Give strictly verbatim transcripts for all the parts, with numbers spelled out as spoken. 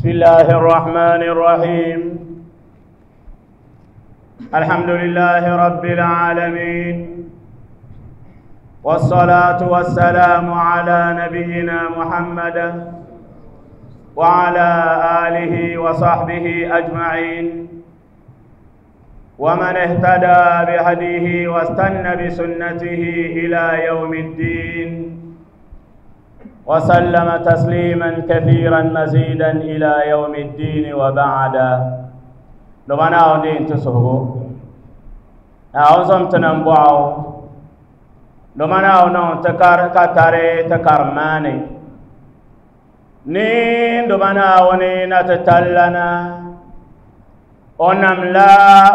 بسم الله الرحمن الرحيم الحمد لله رب العالمين والصلاة والسلام على نبينا محمد وعلى آله وصحبه أجمعين ومن اهتدى بهديه واستنى بسنته إلى يوم الدين وسلم تسليما كثيرا مزيدا إلى يوم الدين وبعد لمنا ودين تسهو أعوذ تنبعو لمنا ونو تكار كتاري تكرماني نين لمنا ونين تتلنا ونملا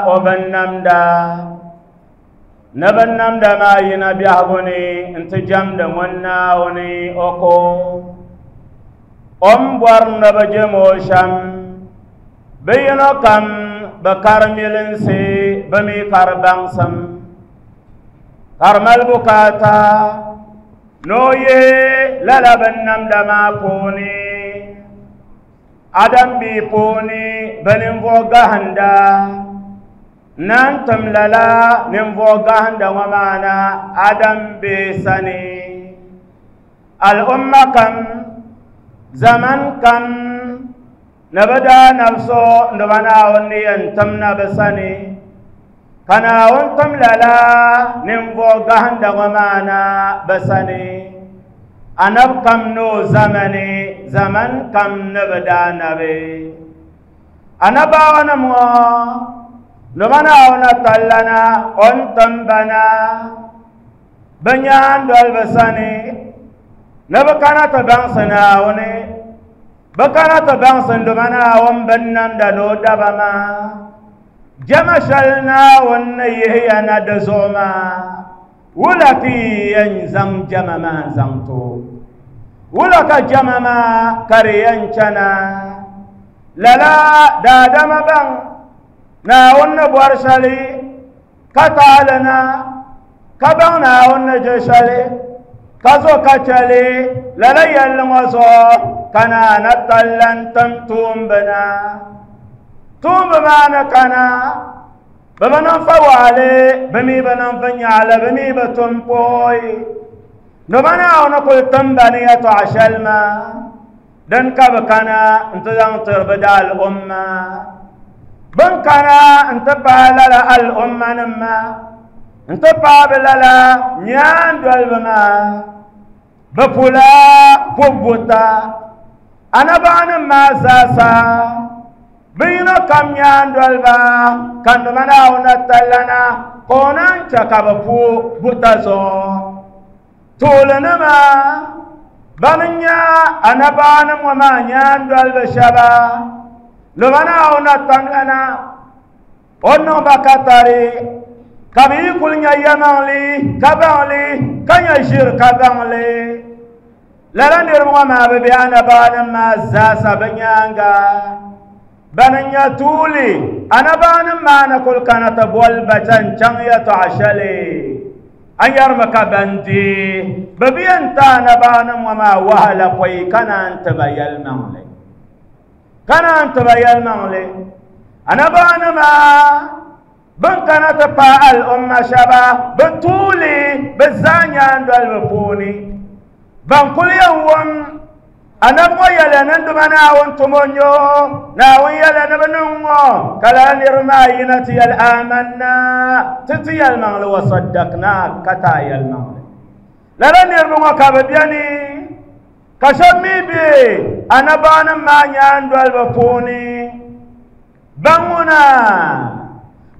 وبنمدا نبنمدا ما ينبيهوني انت جمد وناوني أكو أمبر نبجموشم بينكم بكرميلنسي بمي كربانسم كرمال بكاتا نويه للا بنمدا ما بوني adam bi puuni bɛ ninvuɣ gahinda nan tim lala ninvuɣ gahinda ŋɔ maana adam bi sani al'umma kam zaman kam ni bɛ daa nabso ni ba Naawuni ni yɛn tim na bɛ sani ka Naawuni tim lala ninvuɣ gahinda ŋɔ maana bɛ sani anab kam no zamani zaman kam ni bɛ daa nabi anabaawanim ŋɔ ni ba Naawuni tallana o ni tim ba na bɛ nyaandoli bɛ sani ni bɛ kana ti baŋsi Naawuni bɛ kana ti baŋsi ni ba Naawuni binnamda ni o daba maa jama shɛli Naawuni ni yihiya na di zuɣu maa wula ka yi yɛn zaŋ jama maa zaŋ to wula ka jama maa ka di yɛn chana lala daadama baŋ Naawuni ni bɔri shɛli ka taali na ka baŋ Naawuni ni je shɛli ka zo ka chɛli lala yɛlli ŋɔ zuɣu ka naana talla n-tim tuumbi na tuumbi maa ni kana bɛ bi niŋ fa waɣali bɛ mi bi niŋ fa nyaɣali bɛ mi bi tum pooi ni ba Naawuni kuli tim ba ni yɛltɔɣa shɛli maa din ka bɛ kana n-ti zaŋ tiri bɛ da al'umma bɛn kana n-ti paai lala al'umma nim maa n-ti paai bɛ lala nyaandoliba maa bɛ pula pubu buta anabaanim maa zaasa bɛ yino kam nyaandoliba ka nima Naawuni tallana ka o naan chɛ ka bɛ pu buta zuɣu tuulinima ban n-nyɛ anabaanim ŋɔ maa nyaandoliba shɛba ni ba Naawuni tallana o niŋ ba katari ka bɛ yi kuli nya yɛmaŋli ka baŋli ka nya ʒiri ka baŋli lala niriba ŋɔ maa bɛ be anabaanim maa zaasa bɛ nyaaŋa ban n-nyɛ tuuli anabaanim maa ni kuli kana ti boli ba chaŋ yɛltɔɣa shɛli a yɛrimi ka ban deei bɛ bi yɛn ti anabaanim ŋɔ maa wahala pɔi ka naan ti ba yɛlimaŋli ka naan ti ba yɛlimaŋli anabaanima bɛn kana ti paai al'umma shɛba bɛ tuuli bɛ zaa nyaandoliba puuni ban kuli yɛn wum anab ŋɔ yɛla ni duma Naawuni tumo n-nyɛ o Naawuni yɛla ni bɛ niŋ ŋɔ ka lala niriba maa yina ti yɛli amanna ti ti yɛlimaŋli wa saddaqna ka ti a yɛlimaŋli lala niriba ŋɔ ka bɛ beni ka shɛba mi be anabaanim maa nyaandoliba puuni ban ŋuna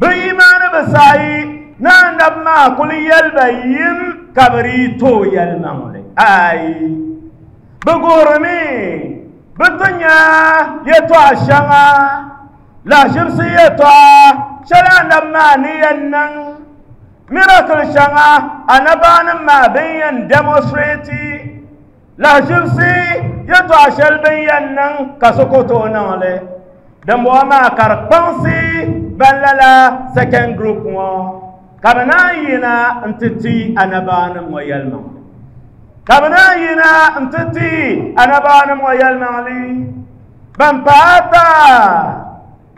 bɛ imaani bi saɣi ni anabi maa kuli yɛli ba yim ka bɛ dii tooi yɛlimaŋli ayi bɛ guhirimi bɛ ti nya yɛltɔɣa shɛŋa lahaʒibisi yɛltɔɣa shɛli anabi maa ni yɛn niŋ miracle shɛŋa anabaanim maa bɛn yɛn demonstrate lahaʒibisi yɛltɔɣa shɛli bɛn yɛn niŋ ka so ku tooi niŋ li dimbɔŋɔ maa ka di kpaŋsi ban lala second group ŋɔ ka bɛ naan yina n-ti ti anabaanim ŋɔ yɛlimaŋli ka bɛ naan yina n-ti ti anabaanim ŋɔ yɛlimaŋli Ban paata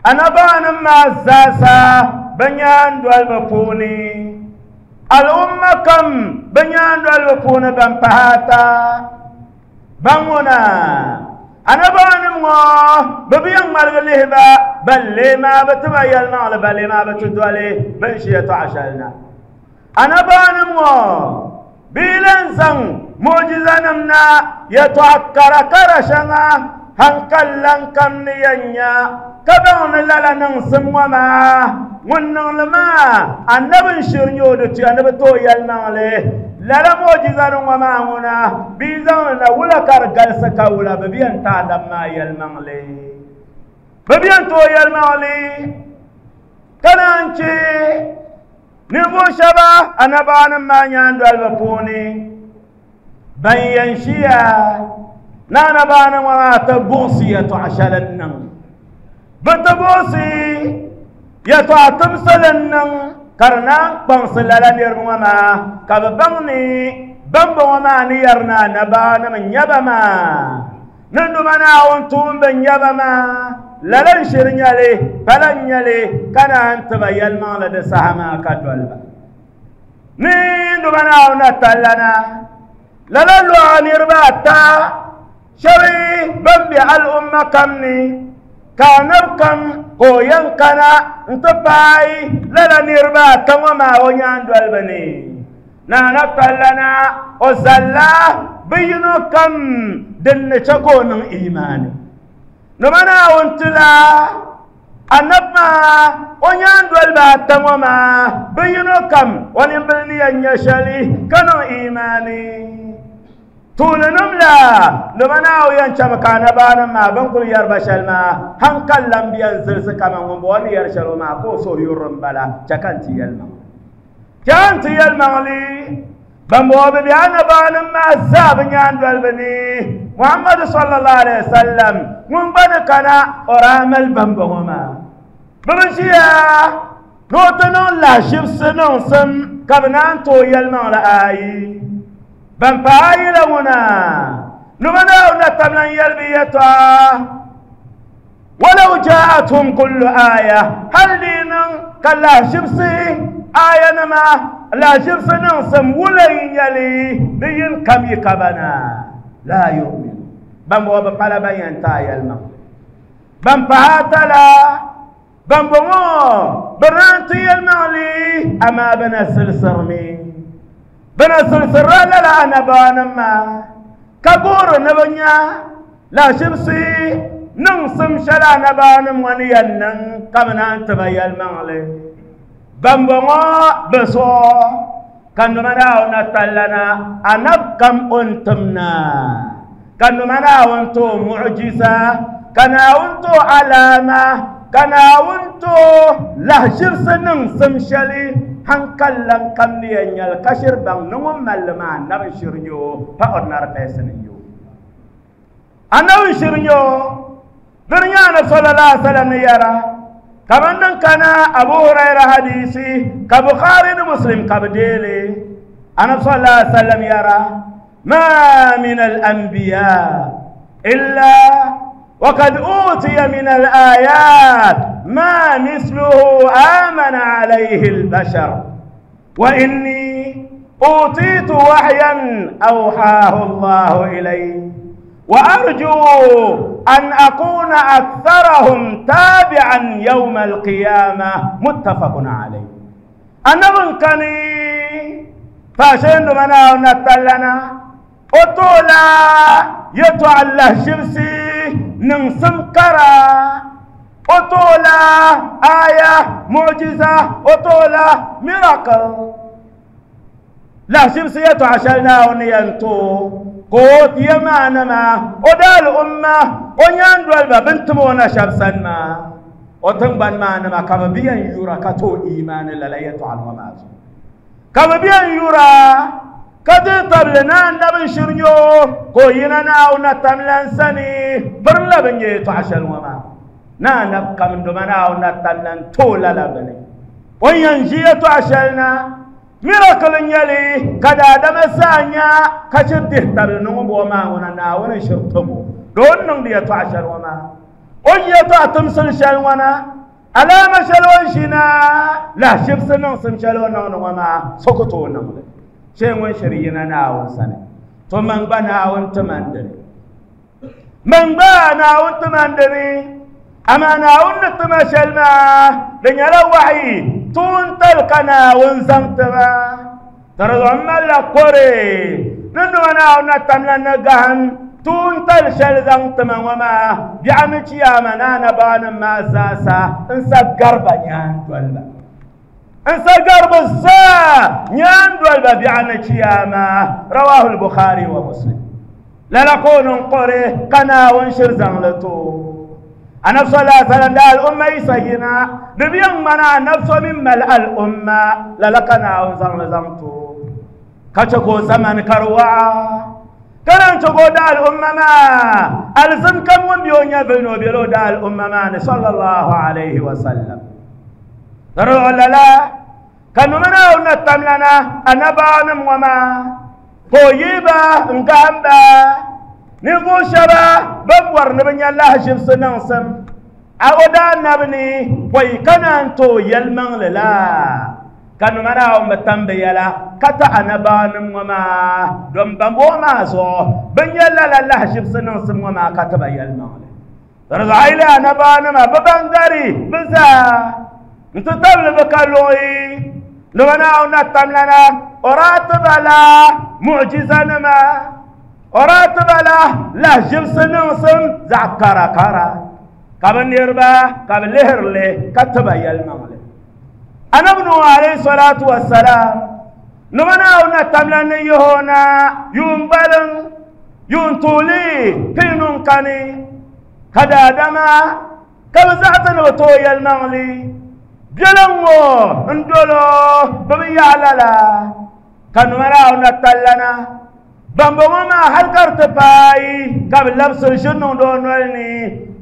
annabawanim maa zaasa bɛ nyaandoliba puuni al'umma kam bɛ nyaandoliba puuni ban pahi ata ban ŋuna annabawanim ŋɔ bɛ bi yɛn ŋmaligi lihi ba ban lee maa bɛ ti ba yɛlimaŋli ban lee maa bɛ ti doli bin ʒi yɛltɔɣa shɛli na annabawanim ŋɔ bɛ yi lan zaŋ mu'jizanim na yɛltɔɣa kara kara shɛŋa hankalan kam ni yɛn nya ka baŋ ni lala niŋsim ŋɔ maa ŋun niŋli maa annabi n shiri nyɛ o di tuya ni bi tooi yɛlimaŋli lala mu'jizanim ŋɔ maa ŋuna bɛ yi zaŋli na wula ka di galisi ka wula bɛ bi yɛn ti annabi maa yɛlimaŋli bɛ bi yɛn tooi yɛlimaŋli ka naan che ninvuɣ shɛba annabawanim maa nyaandoliba puuni ban yɛn ʒiya na annabawanim ŋɔ maa ti buɣisi yɛltɔɣa shɛli n niŋ bɛ ti buɣisi yɛltɔɣa timsili n niŋ ka di naan kpaŋsi lala niriba ŋɔ maa ka bɛ baŋ ni bambɔŋɔ maa ni yɛri ni annabawanim n nyɛ ba maa ni Nduma Naawuni tuumba n nyɛ ba maa lala n shiri nyɛli pala n nyɛli ka naan ti ba yɛlimaŋli di saha maa ka doli ba ni Nduma Naawuni na tallana lala lɔɣa niriba ata shɛba ban be al'umma kam ni ka annabi kam ka o yɛn kana n-ti paai lala niriba ata ŋɔ maa o nyaandoliba ni na annabi tallana o zalla bɛ yino kam din ni che ka o niŋ imaani Nduma Naawuni tila annabi maa o nyaandoliba ata ŋɔ maa bɛ yino kam o nimbili ni yɛn nyɛ shɛli ka niŋ imaani tuulinim la Nduma Naawuni yɛn chami ka annabawanim maa bɛn kuli yɛri ba shɛli maa hankalan bi yɛn zilisi kaman ŋun bɔŋɔ ni yɛri shɛli o maa ka o suhu yurilim bala chɛ ka n ti yɛlimaŋli chɛ ka n ti yɛlimaŋli ban bɔŋɔ bɛ be annabawanim maa zaa bɛ nyaandoliba ni Muhammadu sallallahu alaihi wasallam ŋun gba ni kana o daa mali bambɔŋɔ maa bɛ bi ʒiya ni o ti niŋ lahaʒibisi niŋsim ka bɛ naan tooi yɛlimaŋli ayi ban pahi ayi la ŋuna Nduma Naawuni na tam lan yɛli bɛ yɛltɔɣa walau ja'atuhum kullu aya hali di niŋ ka lahaʒibisi ayanima lahaʒibisi niŋsim wula n nyɛli di yin kam yi ka ba na la yu'minu ban bɔŋɔ bɛ pala ban yɛn ti a yɛlimaŋli ban pahi ata la ban bɔŋɔ bɛ naan ti yɛlimaŋli amaa bɛ na zilisirimi bɛ na zilisirila lala annabawanim maa ka guhiri ni bɛ nya lahaʒibisi niŋsim shɛli annabawanim ŋɔ ni yɛn niŋ ka bɛ naan ti ba yɛlimaŋli ban bɔŋɔ bɛ zuɣu ka Nduma Naawuni na tallana annabi kam o ni tim na ka Nduma Naawuni ti o mu'jiza ka Naawuni ti o alama ka Naawuni ti o lahaʒibisi niŋsim shɛli hankalan kam ni yɛn nyɛli ka shiri baŋ ni ŋun malli maa annabi n shiri nyɛ o pa ordinary person n nyɛ o annabi n shiri nyɛ o dini nyɛ annabi sallallahu alaihi wasallam ni yɛra kaman din kana Abu Huraira hadisi ka Bukhari ni Muslim ka bi deeli annabi sallallahu alaihi wasallam yɛra ma min al-anbiya illa وقد أوتي من الآيات ما مثله آمن عليه البشر وإني أوتيت وحيا أوحاه الله إلي وأرجو أن أكون أكثرهم تابعا يوم القيامة متفق عليه النبي كان فاشين منا ونتلنا أطولا يتوى شمسي ننسم كرا أطولا آية معجزة أطولا ميراكل لا شمسي يتوى شلنا ونينتو قوت يمانا ما ودال أمة ونياندو الباب بنتمونا شمسا ما وتنبان ما نما كما بيان يورا كتو إيمان لا يتوى المماز كما بيان يورا كدي تبلنا نبن شرنيو كوينا ناونا تملان سني برلا بنجي تعشل وما نا نبقى من دمنا ونتملان تولا لبني وينجي تعشلنا miracle nyɛli ka daadama zaa nya ka shiri dihi tabili ni ŋun bɔŋɔ maa ŋuna Naawuni n shiri timo doo n niŋdi yɛltɔɣa shɛli ŋɔ maa O yɛltɔɣa timsili shɛli ŋɔ na alaama shɛli o ni ʒina lahi shibsi niŋsim shɛli o niŋdi ŋɔ maa so ku tooi niŋli shee ŋun shiri yina Naawuni sani to man gba Naawuni ti man dini man gba Naawuni ti man dini amaa Naawuni ni tima shɛli maa di nyɛla wahi tuuntali ka Naawuni zaŋ tiba ka di zuɣu m malila kore ni nima Naawuni na tamla ni gahim tuuntali shɛli zaŋ tima ŋɔ maa biɛɣu ni chiyaama ni anabaanim maa zaasa n sa gariba nyaandoliba n sa gariba zaa nyaandoliba biɛɣu ni chiyaama rawahu lbukhari wa muslim lala ka o niŋ kore ka Naawuni shiri zaŋli to annabi sallallahu alaihi wasallam da al'umma yisa yina di bi yɛn ŋmana annabi so min mali al'umma lala ka Naawuni zaŋli zaŋ to ka chɛ ka o zamani ka di waɣa ka naan chɛ ka o da al'umma maa alizin kam ŋun be o nyɛvili ni o bela o da al'umma maa ni sallallahu alaihi wasallam di zuɣu lala ka nima Naawuni na tamlana anabaanim ŋɔ maa ka o yihi ba n gahim ba ninvuɣu shɛba ban bɔri ni bi nya lahaʒibisi niŋsim a o daa nabi ni pɔi ka naan tooi yɛlimaŋli la ka nima Naawuni bi tam bi yɛla ka ti anabaanim ŋɔ maa don bambɔŋɔ maa zuɣu bi nya lala lahaʒibisi niŋsim ŋɔ maa ka ti ba yɛlimaŋli di zuɣu a yi lihi anabaanima bi ban gari bi zaa n ti tabili bi ka luɣi nima Naawuni na tamlana o daa ti ba la mu'jizanima o daa ti ba la lahaʒibisi niŋsim zaɣ kara kara ka bi niriba ka bi lihirili ka ti ba yɛlimaŋli anabi Nuhu alayhi salatu wassalam nima Naawuni na tamla ni yihi o na yuun gbaliŋ yuun tuuli pinu n kani ka daadama ka bi zaɣasi ni bi tooi yɛlimaŋli biɛliŋ ŋɔ n dolo bi bi yaɣa lala ka nima Naawuni na tallana bambɔŋɔ maa hali ka di ti paai ka bi labisiri ʒiri niŋdi o noli ni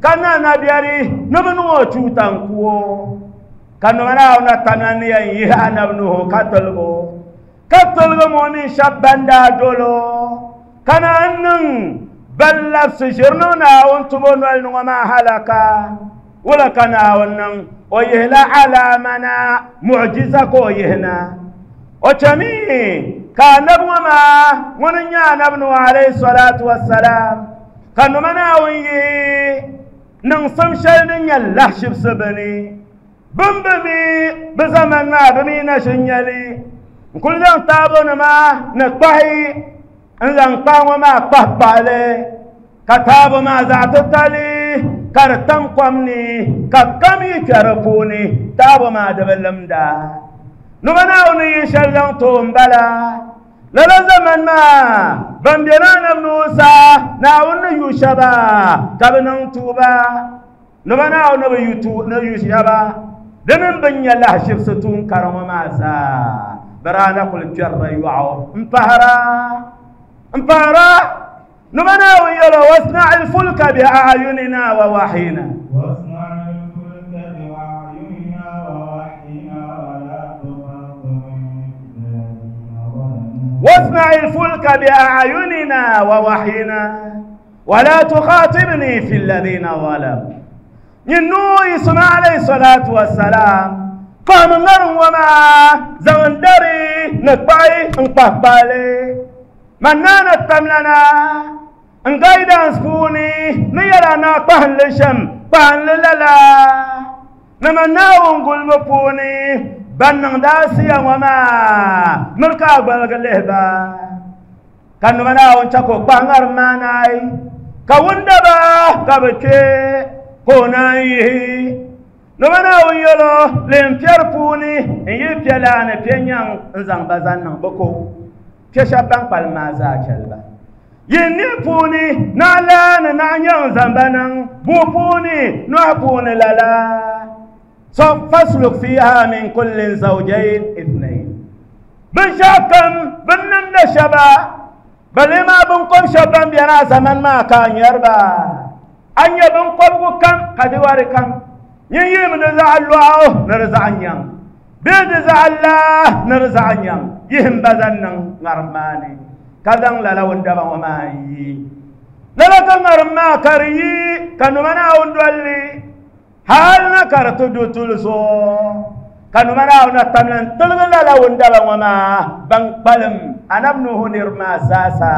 ka na nabiɛri ni bi niŋ o tuuta n ku o ka nima Naawuni na tamla ni yɛn yihi anabi Nuhu ka tiligi o ka tiligi mo mini shɛba ban daa dolo ka naan niŋ ban labisi ʒiri niŋ Naawuni tubo noli ni ŋɔ maa halaka wula ka Naawuni niŋ o yihila alaama na mu'jiza ka o yihi na o chami ka anabi ŋɔ maa ŋuni n nyɛ anabi Nuhu alayhi salatu wassalam ka nima Naawuni yihi niŋsim shɛli din nyɛ lahaʒibisi bini bin bi mi bi zaman maa bi mi na ʒin nyɛli n kuli zaŋ taabo nima ni kpahi n zaŋ kpahi ŋɔ maa kpahi kpahili ka taabo maa zaɣ titali ka di tam kom ni ka kam yi kpɛ di puuni taabo maa di bi limda nima Naawuni yi shɛli zaŋ too n bala lala zaman maa ban be na anabi Nuhu saha Naawuni ni yu shɛba ka bi niŋ tuuba nima Naawuni ni bi yu ni yu shɛba di mini bin nyɛ lahaʒibisi tuun kara ŋɔ maa zaa bi daa na kuli kpɛrila yɔɣu n pahara n pahara nima Naawuni yɛlo wasna'i lfulka bi a'yunina wa wahyina واصنع الفلك بأعيننا ووحينا واصنع الفلك بأعيننا ووحينا ولا تخاطبني في الذين ظلموا نوح إسماعيل عليه الصلاة والسلام فهم نر وما زندري نقبعي نقبالي منانا التملنا نقايدا نسكوني نيلا نقبهن لشم بهن للا نمنا ونقول مبوني ban niŋdi asiya ŋɔ maa miri ka a gbaligi lihi ba ka nima Naawuni chɛ ka o kpahi ŋarim maa naai ka wundaba ka bi kpe ka o naan yihi nima Naawuni yɛlo lin piɛri puuni n yi piɛ laa ni piɛ nyaŋ n zaŋ ba zaŋ niŋ bi ko piɛ shɛba ban kpalim maa zaa chɛli ba yin ni puuni naɣ laa ni naɣ nyaŋ zaŋ ba niŋ bua puuni nohi puuni lala فاسلك فيها من كل زوجين اثنين بنشاكم بنمد شبا بل ما بنقوم شبا بينا زمن ما كان يربا أن يبنقوم كم قد واركم يي من زعل الله نرزع نيام بيد زعل الله نرزع نيام يهم بزن نغرماني كذا لا لو اندبا وما يي Lala ka ŋarim maa ka di yi ka nima Naawuni dolli hali na ka di ti du tuli zuɣu ka nima Naawuni na tamla n tiligi lala wundaba ŋɔ maa ban kpalim anabi Nuhu niriba maa zaasa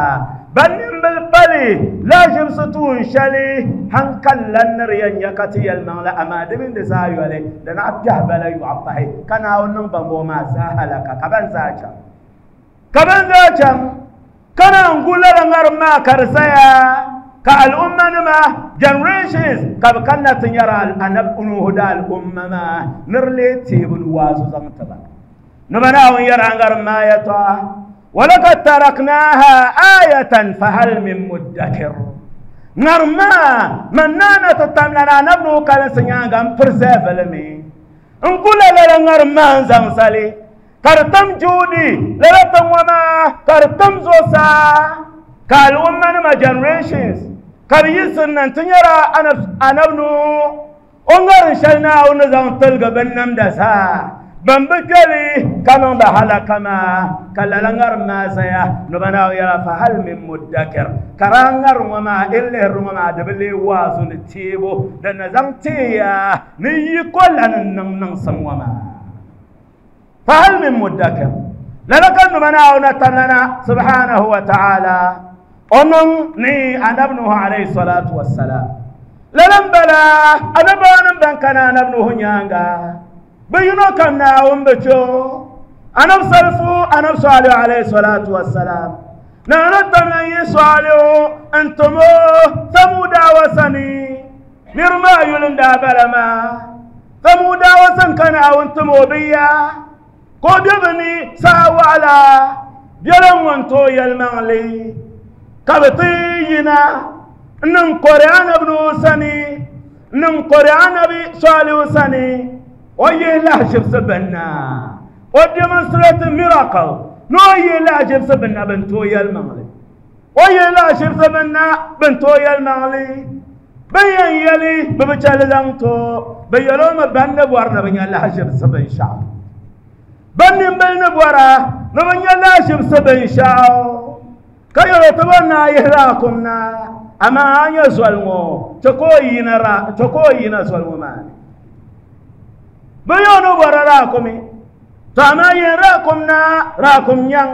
ban nimbili pali laʒibisi tuun shɛli hankali lan ni di yɛn nya ka ti yɛlimaŋli amaa di mini di zaa yoli di naɣ kpɛhi bala yɔɣu pahi ka Naawuni niŋ bambɔŋɔ maa zaa halaka ka ban zaa chaŋ ka ban zaa chaŋ ka naan gu lala ŋarim maa ka di zaya ka al'umma nima generations ka bi kanna ti nyɛri anabi Nuhu da al'umma maa ni di lee teebu ni waazu zaŋ ti ba ni ba Naawuni yɛra ŋarim maa yɛtɔɣa walakad taraknaha ayatan fahal min muddakir ŋarim maa man naana ti tamla na anabi Nuhu kalinsi nyaanga n preserve li mi n gu la lala ŋarim maa n zaŋ zali ka di tam juhudi lala tiŋ ŋɔ maa ka di tam zuɣusaa ka al'umma nima generations ka bi yiɣisiri na n-ti nyɛla anabi Nuhu o ŋarim shɛli Naawuni ni zaŋ tiligi binnamda zaa ban bi kpɛli ka niŋ ba halaka maa ka lala ŋarim maa zaya ni ba Naawuni yɛla fa hal min muddakir ka daa ŋarim ŋɔ maa in lihiri ŋɔ maa di bi lee waazu ni teebu din na zaŋ teeya ni yiko lan n niŋ niŋsim ŋɔ maa فهل من مدكر لذلك نمنا تملنا سبحانه وتعالى أنن ني أنا ابنه عليه الصلاة والسلام لنم بلا أنا بانم بان كان أنا ابنه نيانغا بينو كم ناوم بچو أنا بصرفو أنا بصالح عليه الصلاة والسلام نانا تملنا يسواليو أنتمو ثمودا وسني نرما يلم دابلما ثمودا وسن كان أنتمو بيا ko bɛ ni saa waɣala biɛla ŋun tooi yɛlimaŋli ka bi ti yina n niŋ kɔri anabi Nuhu sani n niŋ kɔri anabi Salihu sani o yihi lahaʒibisi binna o demonstrate miracle ni o yihi lahaʒibisi binna bin tooi yɛlimaŋli o yihi lahaʒibisi binna bin tooi yɛlimaŋli bin yɛn yɛli bi bi chɛli zaŋ to bi yɛli o mi ban ni bɔri ni bi nya lahaʒibisi binshaɣu ban nimbili ni bɔra ni bi nya lahaʒibisi binshaɣu ka yɛli ti bɔri ni a yihi raakum na amaa a nyɛ zoli ŋɔ chɛ ka o yina ra chɛ ka o yina zoli ŋɔ maa ni bi yɛli ni bɔra raakumi to amaa yin raakum na raakum nyaŋ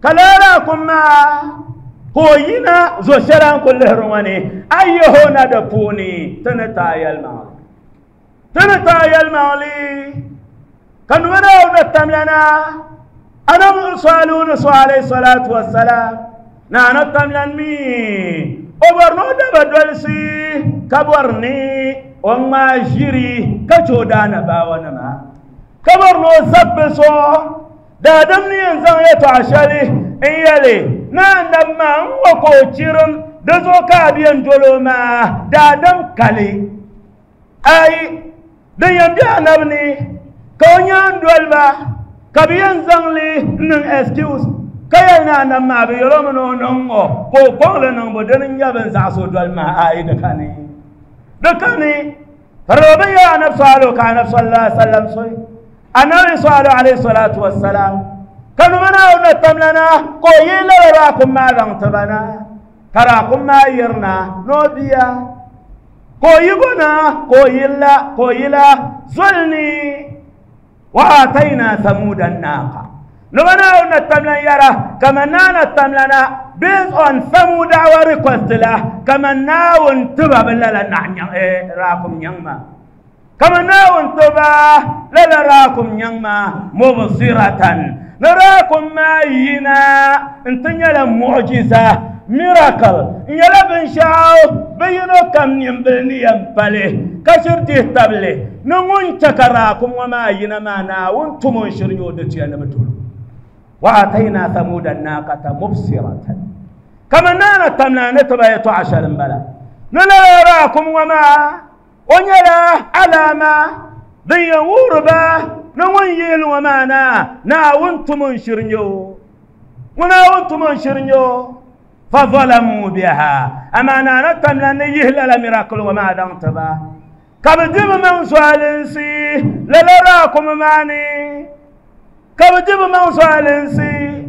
ka lala raakum maa ka o yina zo shɛli a ni ku lihiri ŋɔ ni a yihi o na di puuni ti ni taai yɛlimaŋli ti ni taai yɛlimaŋli ka nima Naawuni tamlana anabi Salihu ni so alayhi salatu wassalam na anabi tamlan mi o bɔri ni o daba dolisi ka bɔri ni o ŋmaa ʒiri ka che o daanabaawa nima ka bɔri ni o zabbi so daadam ni yɛn zaŋ yɛtɔɣa shɛli n yɛli ni anabi maa n wa ka o chirim di zuɣu ka a bi yɛn doli o maa daadam kali ayi din yɛn be anabi ni ka o nyaan doliba ka bi yɛn zaŋli niŋ excuse ka yɛli ni anabi maa bi yɛli o mi ni o niŋ ŋɔ ka o kɔŋli niŋbu dini n nyɛ bin zaɣasi o doli maa ayi di kani di kani ka di bi yɛli anabi Salihu ka anabi sallallahu alaihi wasallam soyi anabi Salihu alayhi salatu wassalam ka nima Naawuni na tamlana ka o yi lala raakum maa zaŋ ti ba na ka raakum maa yirina ni o bia ka o yi bo na ka o yilla ka o yila zoli ni وآتينا ثمود الناقة نبنا نتملن يرى كما نانا تملنا based on ثمود request له كما ناون تبا بلا راكم ينما كما ناون تبا لا راكم ينما مبصرة نراكم ما ينا انتنيا معجزة miracle nyɛla binshaɣu bi yino kam nimbili ni yɛn pali ka shiri dihi tabili ni ŋun chɛ ka raakum ŋɔ maa yina maa Naawuni tum o n shiri nyɛ o di tuya ni bi tolo wa atayna thamuda naqata mubsiratan kama naana tamna ni tiba yɛtɔɣa shɛli n bala ni lala raakum ŋɔ maa o nyɛla alaama din yɛn wuhiri ba ni ŋun yihili ŋɔ maa na Naawuni tum o n shiri nyɛ o ŋun Naawuni tum o n shiri nyɛ o فظلموا بها أما أنا تملن يهلل ميراكل وما دانتبا كبدب من سوالنسي للراكم ماني كبدب من سوالنسي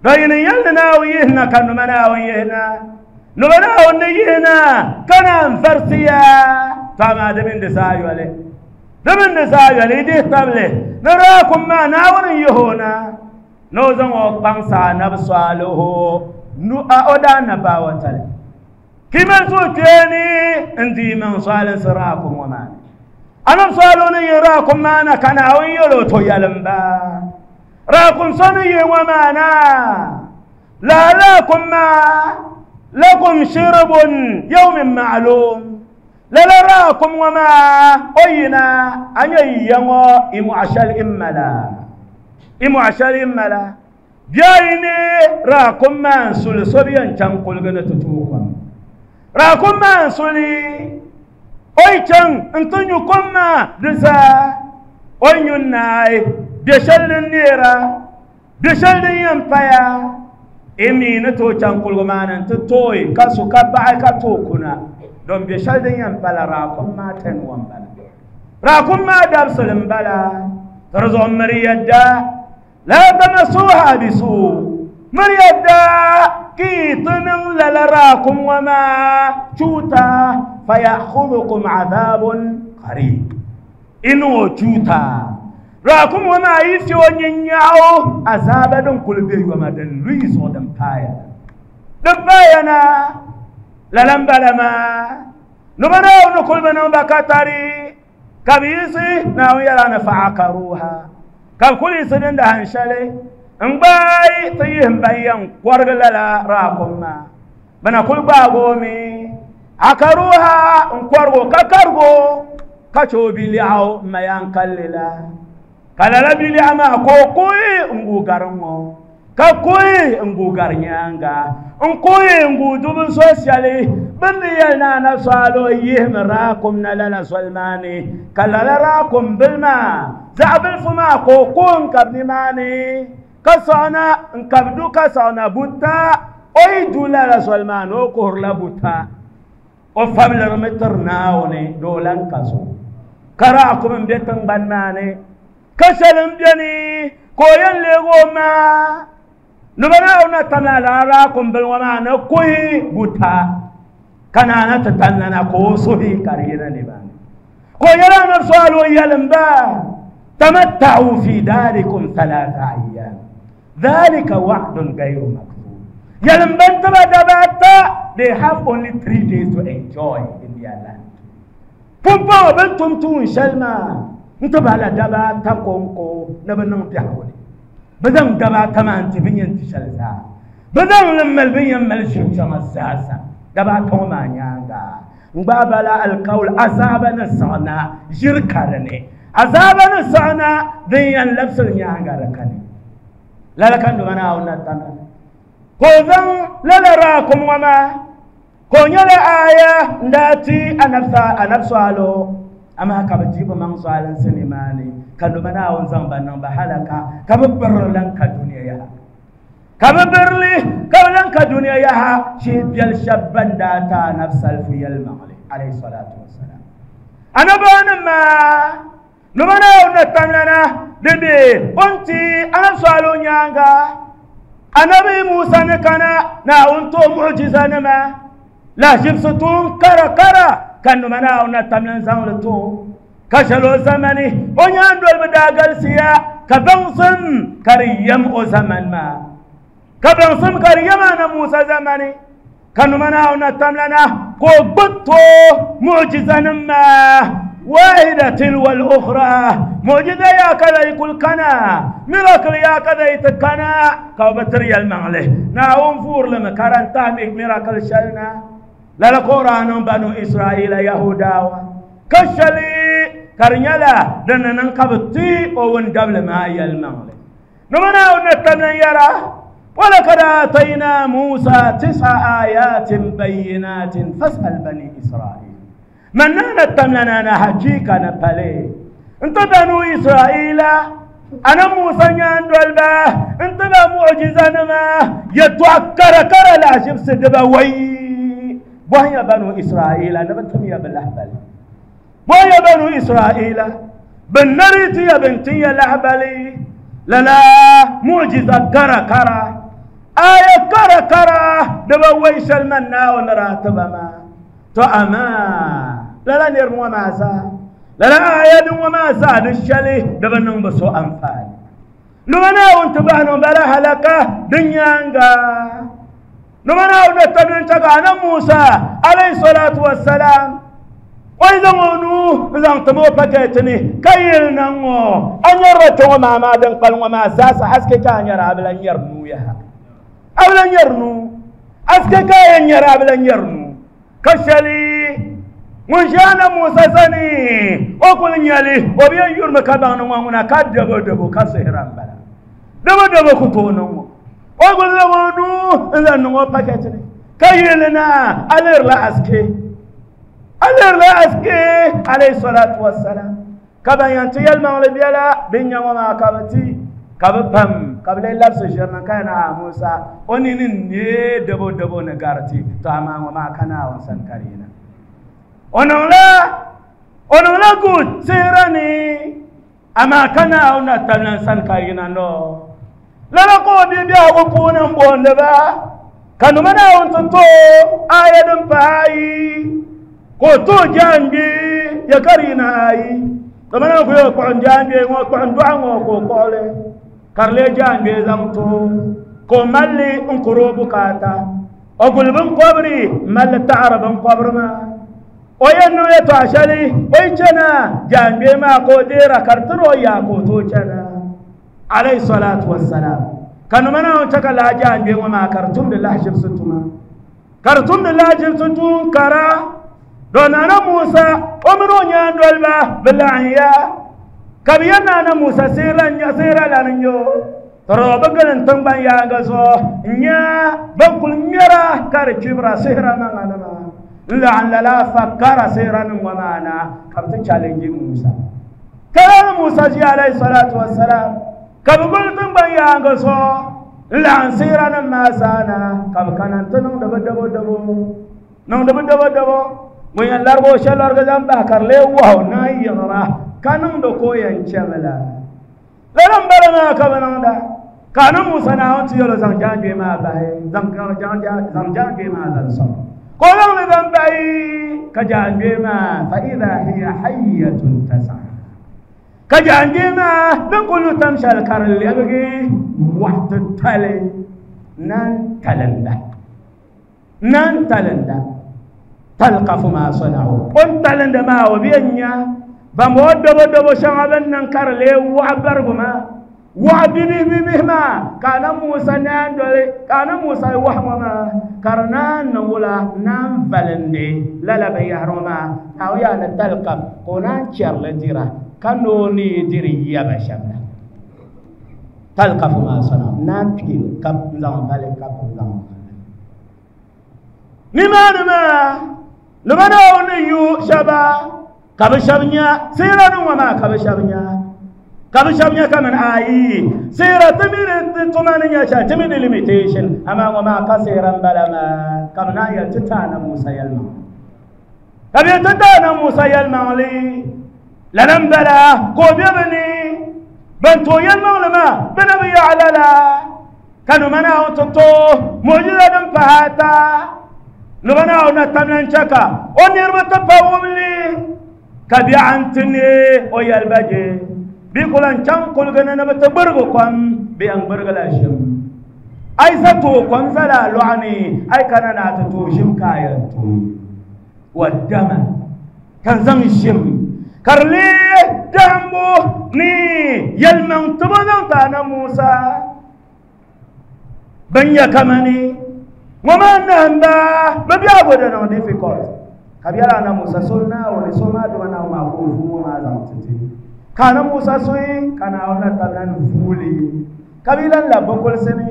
بين يلنا ويهنا كانوا منا ويهنا نبنا ونينا كان فرسيا فما دمن دسايولي دمن دسايولي دي تبلي نراكم ما ناون يهونا نوزن وقبان نبصاله نو أودا نباوتالي كما سوتيني اندي من صال سراكم وما أنا صالوني يراكم ما أنا كان أويلو تويالمبا راكم صني وما أنا لا لكم ما لكم شرب يوم معلوم لا لا راكم وما أينا أن يمو إمو عشال إملا إمو عشال إملا جايني راكم ما سول سبيان تنقل غنتتوكم راكم ما سولي أي تن انتن يكم ما دسا أي ناي بشل النيرة بشل ينفيا إمي نتو تنقل غمان انت توي كاسو كبعي كتوكنا دون بشل ينفلا راكم ما تنوان بلا راكم ما دابسل بلا ترزو مريدا لا تمسوها بسوء مريدا كي تنن لراكم وما شوتا فيأخذكم عذاب قريب إنو شوتا راكم وما يسيو نينياو عذاب دون كل بي وما دن لويسو دن بايا دن بايانا للم بلما نبناو نكل بنو بكتاري كبيسي ناو يرانا فعقروها كم كل سنين دهن شلي انباي تيهم بيان قرغ لا راكم ما بنا كل باغومي عقروها انقرغو ككرغو كچو بلياو ما ينكللا كلا بليا ما كوكوي انغو غارمو كوكوي انغو غارنيانغا انكوي انغو دوب سوسيالي بني انا نسالو يهم راكم نلا سلماني كلا راكم بالما زعبل فما كوكون كبني ماني كسانا انكبدو كسانا بوتا اي دولا لا سلمان او كورلا بوتا او فاملر متر ناوني دولان كاسو كراكم بيتن بان ماني كسلم بيني كوين لغو ما نبنا نتنا لا راكم بالوما نكوي بوتا كان نتتننا كوسوهي كارينا نبان كويرا نفسالو يلمبا تمتعوا في داركم ثلاثة أيام ذلك وعد غير مكذوب يلمبن تبا they have only three days to enjoy in their land. Pumpa bentum tun shalma انتبه على دبا تقونكو نبنن بيحولي بدن دبا تمان تبين تشلزا بدن لما البين ملشم شمساسا دبا توما نيانغا مبابلا القول عذابنا صنا جركرني عذابنا صنا دين لبس نيانغا ركني لا لا كان دمنا اونا تانا كوزن لا لا راكم وما كونيلا آية ndati anafsa anafsalo أما كبتيب من سؤال سليماني كانوا منا ونزام بنا بحالك كببر لك الدنيا يا كببر لي كبلنك الدنيا يا شيء بيل شبان داتا نفس الفيل المغلي عليه الصلاة والسلام أنا بنا ما نمنا ونتمنى دبي أنتي أنا سؤالون يانغا أنا بموسى نكنا نا أنتو معجزة نما لا جبستون كرا كرا كانوا منا ونتمنى زمرتو كشلو زمني ونياندو البداغل سيا كبنصم كريم او زمن ما كبنصم كريم انا موسى زمني كانوا منا ونتمنى كوبتو معجزة ما واحدة تلو الأخرى معجزة يا كذا يقول كنا ميراكل يا كذا يتكنا كوبتري المغلي ناوم فور لما كارنتامي ميراكل شلنا لا القرآن بنو إسرائيل يهودا كشلي كرنيلا دنا ننقبتي أو قبل ما يلمغلي نمنا ونتمنى يرى ولقد آتينا موسى تسع آيات بينات فاسأل بني إسرائيل من نتمنى نحكيك نبالي انت بنو إسرائيل أنا موسى نياندولبا انت معجزة نما يتوكر كر لا شمس دبا وي وهي بنو إسرائيل أنا بنتم يا بالأهبل وهي بنو إسرائيل بنريتي يا بنتي يا الأهبلي لا لا معجزة كرا كرا Aya kara kara di bi wai shɛli man Naawuni daa ti ba maa. To amaa lala niriba ŋɔ maa zaa, lala aya din ŋɔ maa zaa di shɛli di bi niŋ bi so anfaani. Nima Naawuni ti bahi niŋ bala halaka din nyaaŋa. Nima Naawuni na tabili n-chɛ ka Annabi Musa alayhi salatu wassalam o yi zaŋ o nuu n-zaŋ tim o pakɛti ni ka yili na ŋɔ a nyɛrila kpe ŋɔ maa maa din kpali ŋɔ maa zaasa haske ka a nyɛra a bi lan nyɛri nuu yaha. A bi lan nyɛri nuu. Haske ka a yɛn nyɛra a bi lan nyɛri nuu. Ka shɛli ŋun ʒi Annabi Musa sani o kuli nyɛli o bi yɛn yurimi ka baŋ ni ŋɔ ŋuna ka dabo dabo ka sihira m-bala. Dabo dabo ku tooi niŋ ŋɔ. O kuli zaŋ o nuu n-zaŋ niŋ o pakɛti ni ka yili na a lihirila haske. A lihirila haske alayhi salatu wassalam. Ka ban yɛn ti yɛlimaŋli biɛla bin nya ŋɔ maa ka bi ti ka bi pam ka bi lee labisi ʒiri na ka yɛn a Musa o nini n-neei dabo dabo ni gariti to amaa ŋɔ maa ka Naawuni sani ka di yina. O niŋla o niŋla good sihira ni amaa ka Naawuni na tabila n sani ka yina no. Lala ka o bia biɛhigu puuni n booni ba ka nima Naawuni ti to aya din pahi ayi ka o tooi jaangbe ya ka di yina ayi. Nima Naawuni ku yɛli kpuɣim jaangbe ŋɔ kpuɣim dɔɣu ŋɔ ka o kpuɣili ka di lee jaangbe zaŋ to ka o mali n kuri o bukaata. O guli binkɔbiri m mali taɣari binkɔbiri maa. O yɛn niŋ yɛltɔɣa shɛli o yi chana jaangbe maa ka o deera ka di tiri o yaa ka o tooi chana. Alayhi salatu wassalam. Ka nima Naawuni chɛ ka lala jaangbe ŋɔ maa ka di tumdi lahaʒibisi tuma. Ka di tumdi lahaʒibisi tuun kara. Do Nana Musa o mini o nyaandoliba bi laɣim ya ka bi yɛn Nana Musa sihira lan n-nyɛ o. Tɔrɔ bi gili n tiŋgbani yaaŋa zuɣu n-nya ban kuli ŋmɛra ka di kpibira sihira maŋa nima. N laɣim lala afa kara sihira nim ŋɔ maa na ka bi ti challenge Musa. Ka lala Musa ʒiya alayhi salatu wassalam ka bi gili tiŋgbani yaaŋa zuɣu n laɣim sihira nim maa zaa na ka bi kana n-ti niŋdi bi dabo dabo. Niŋdi bi dabo dabo. Ŋun yɛn larigi o shɛli larigi zaŋ bahi ka di lee wahu naan yiɣira ka niŋdi ka o yɛn chɛmi la. Lala m-bala maa ka bi niŋda. Ka Annabi Musa Naawuni ti yɛl o zaŋ jaangbe maa bahi, zaŋ jaangbe maa zaŋ sɔŋ. Ka o zaŋ li zaŋ bahi ka jaangbe maa fa idha hiya hayyatun tas'a. Ka jaangbe maa din kuli lu tam shɛli ka di lɛbigi wahu titali naan talinda. Naan talinda. Talqafu ma sana'u. O ni talinda maa o bi yɛn nya ban bɔŋɔ dabo dabo shɛŋa bin niŋ ka di lee waɣa barigu maa. Waɣa bibihi bibihi maa ka Annabi Musa naan doli ka Annabi Musa wahi ŋɔ maa ka di naan niŋ wula naan valindi lala binyahari ŋɔ maa Naawuni yaa ni talqaf ka o naan chɛrili dira ka ni o ni yi diri yaba shɛm la. Talqafu ma sana'u naan pili ka zaŋ vali ka zaŋ vali. Nimaani maa nima Naawuni ni yu shɛba ka bi shɛba nya sihira nim ŋɔ maa ka bi shɛba nya ka bi shɛba nya kaman ayi sihira ti mi di tuma ni nya shɛli ti mi di limitation amaa ŋɔ maa ka sihira m-bala maa ka bi naan yɛli ti taana Musa yɛlimaŋli ka bi yɛli ti taana Musa yɛlimaŋli lala m-bala ka o be bi ni ban tooi yɛlimaŋli maa bɛ na bi yaɣi lala ka nima Naawuni ti to mu'jiza din pahi ata nima Naawuni na tamla n-chɛ ka o niriba ti pa wumli ka biɛɣu n-ti neei o yɛli ba je bɛ ku lan chaŋ kuliga ni ni bɛ ti gbirigi kom bɛ yɛn gbirigila ʒim a yi sa tooi kom zala a lɔɣu ni a yi kana ni a ti tooi ʒim ka a yɛn tooi wa dama ka n zaŋ ʒim ka di lee dahimbu ni yɛlimaŋ tibo zaŋ ti Annabi Musa bin nya kamani ŋɔ maa nahimba bɛ biɛhigu di niŋ difficult ka bɛ yɛli Annabi Musa so Naawuni so maa duma Naawuni maa ka o vuu ŋɔ maa zaŋ ti ti ka Annabi Musa soyi ka Naawuni na tabila ni vuuli ka bɛ lan labi bɛ kulisi ni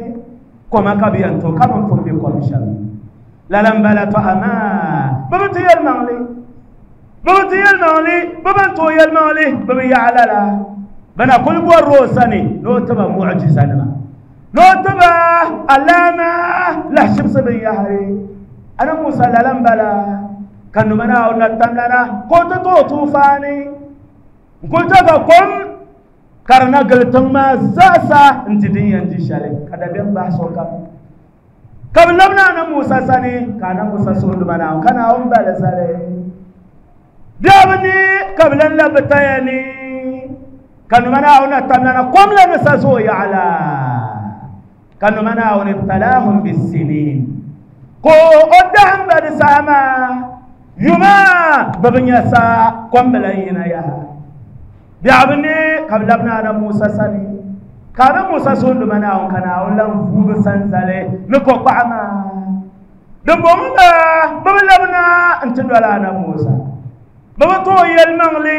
koma ka bɛ yɛn tooi ka bɛ ni pun be kom shɛm lala m-bala to amaa bɛ bi ti yɛlimaŋli bɛ bi ti yɛlimaŋli bɛ ban tooi yɛlimaŋli bɛ bi yaɣi lala bɛ na kuli bɔrila o sani ni o ti ba mu'jiza nima ni o ti ba alama lahaʒibisi binyahari Annabi Musa lala m-bala ka nima Naawuni na tamlana ka o ti tooi tuufaani n kuli chɛ ka kom ka di na gili tiŋ maa zaasa n-ti din yɛn di shɛli ka dabiɛm bahi sokam. Ka bi labina ana Musa sani ka ana Musa suhuri ba Naawuni ka Naawuni bali zali biɛbi ni ka bi lan labi taya ni ka numa Naawuni na tamlana kom la ni sa zooi yaɣala ka numa Naawuni ibtalahum bisinin ko o dahim ba di saha maa yuma bi bi nya saa kom bi lan yina yaha biɛbi ni ka bi labina ana Musa sani ka ana Musa suhuri ba Naawuni ka Naawuni lan vuubi sanzali ni kokpaɣu maa din bɔŋɔ maa bi bi labina n-ti doli ana Musa bi bi tooi yɛlimaŋli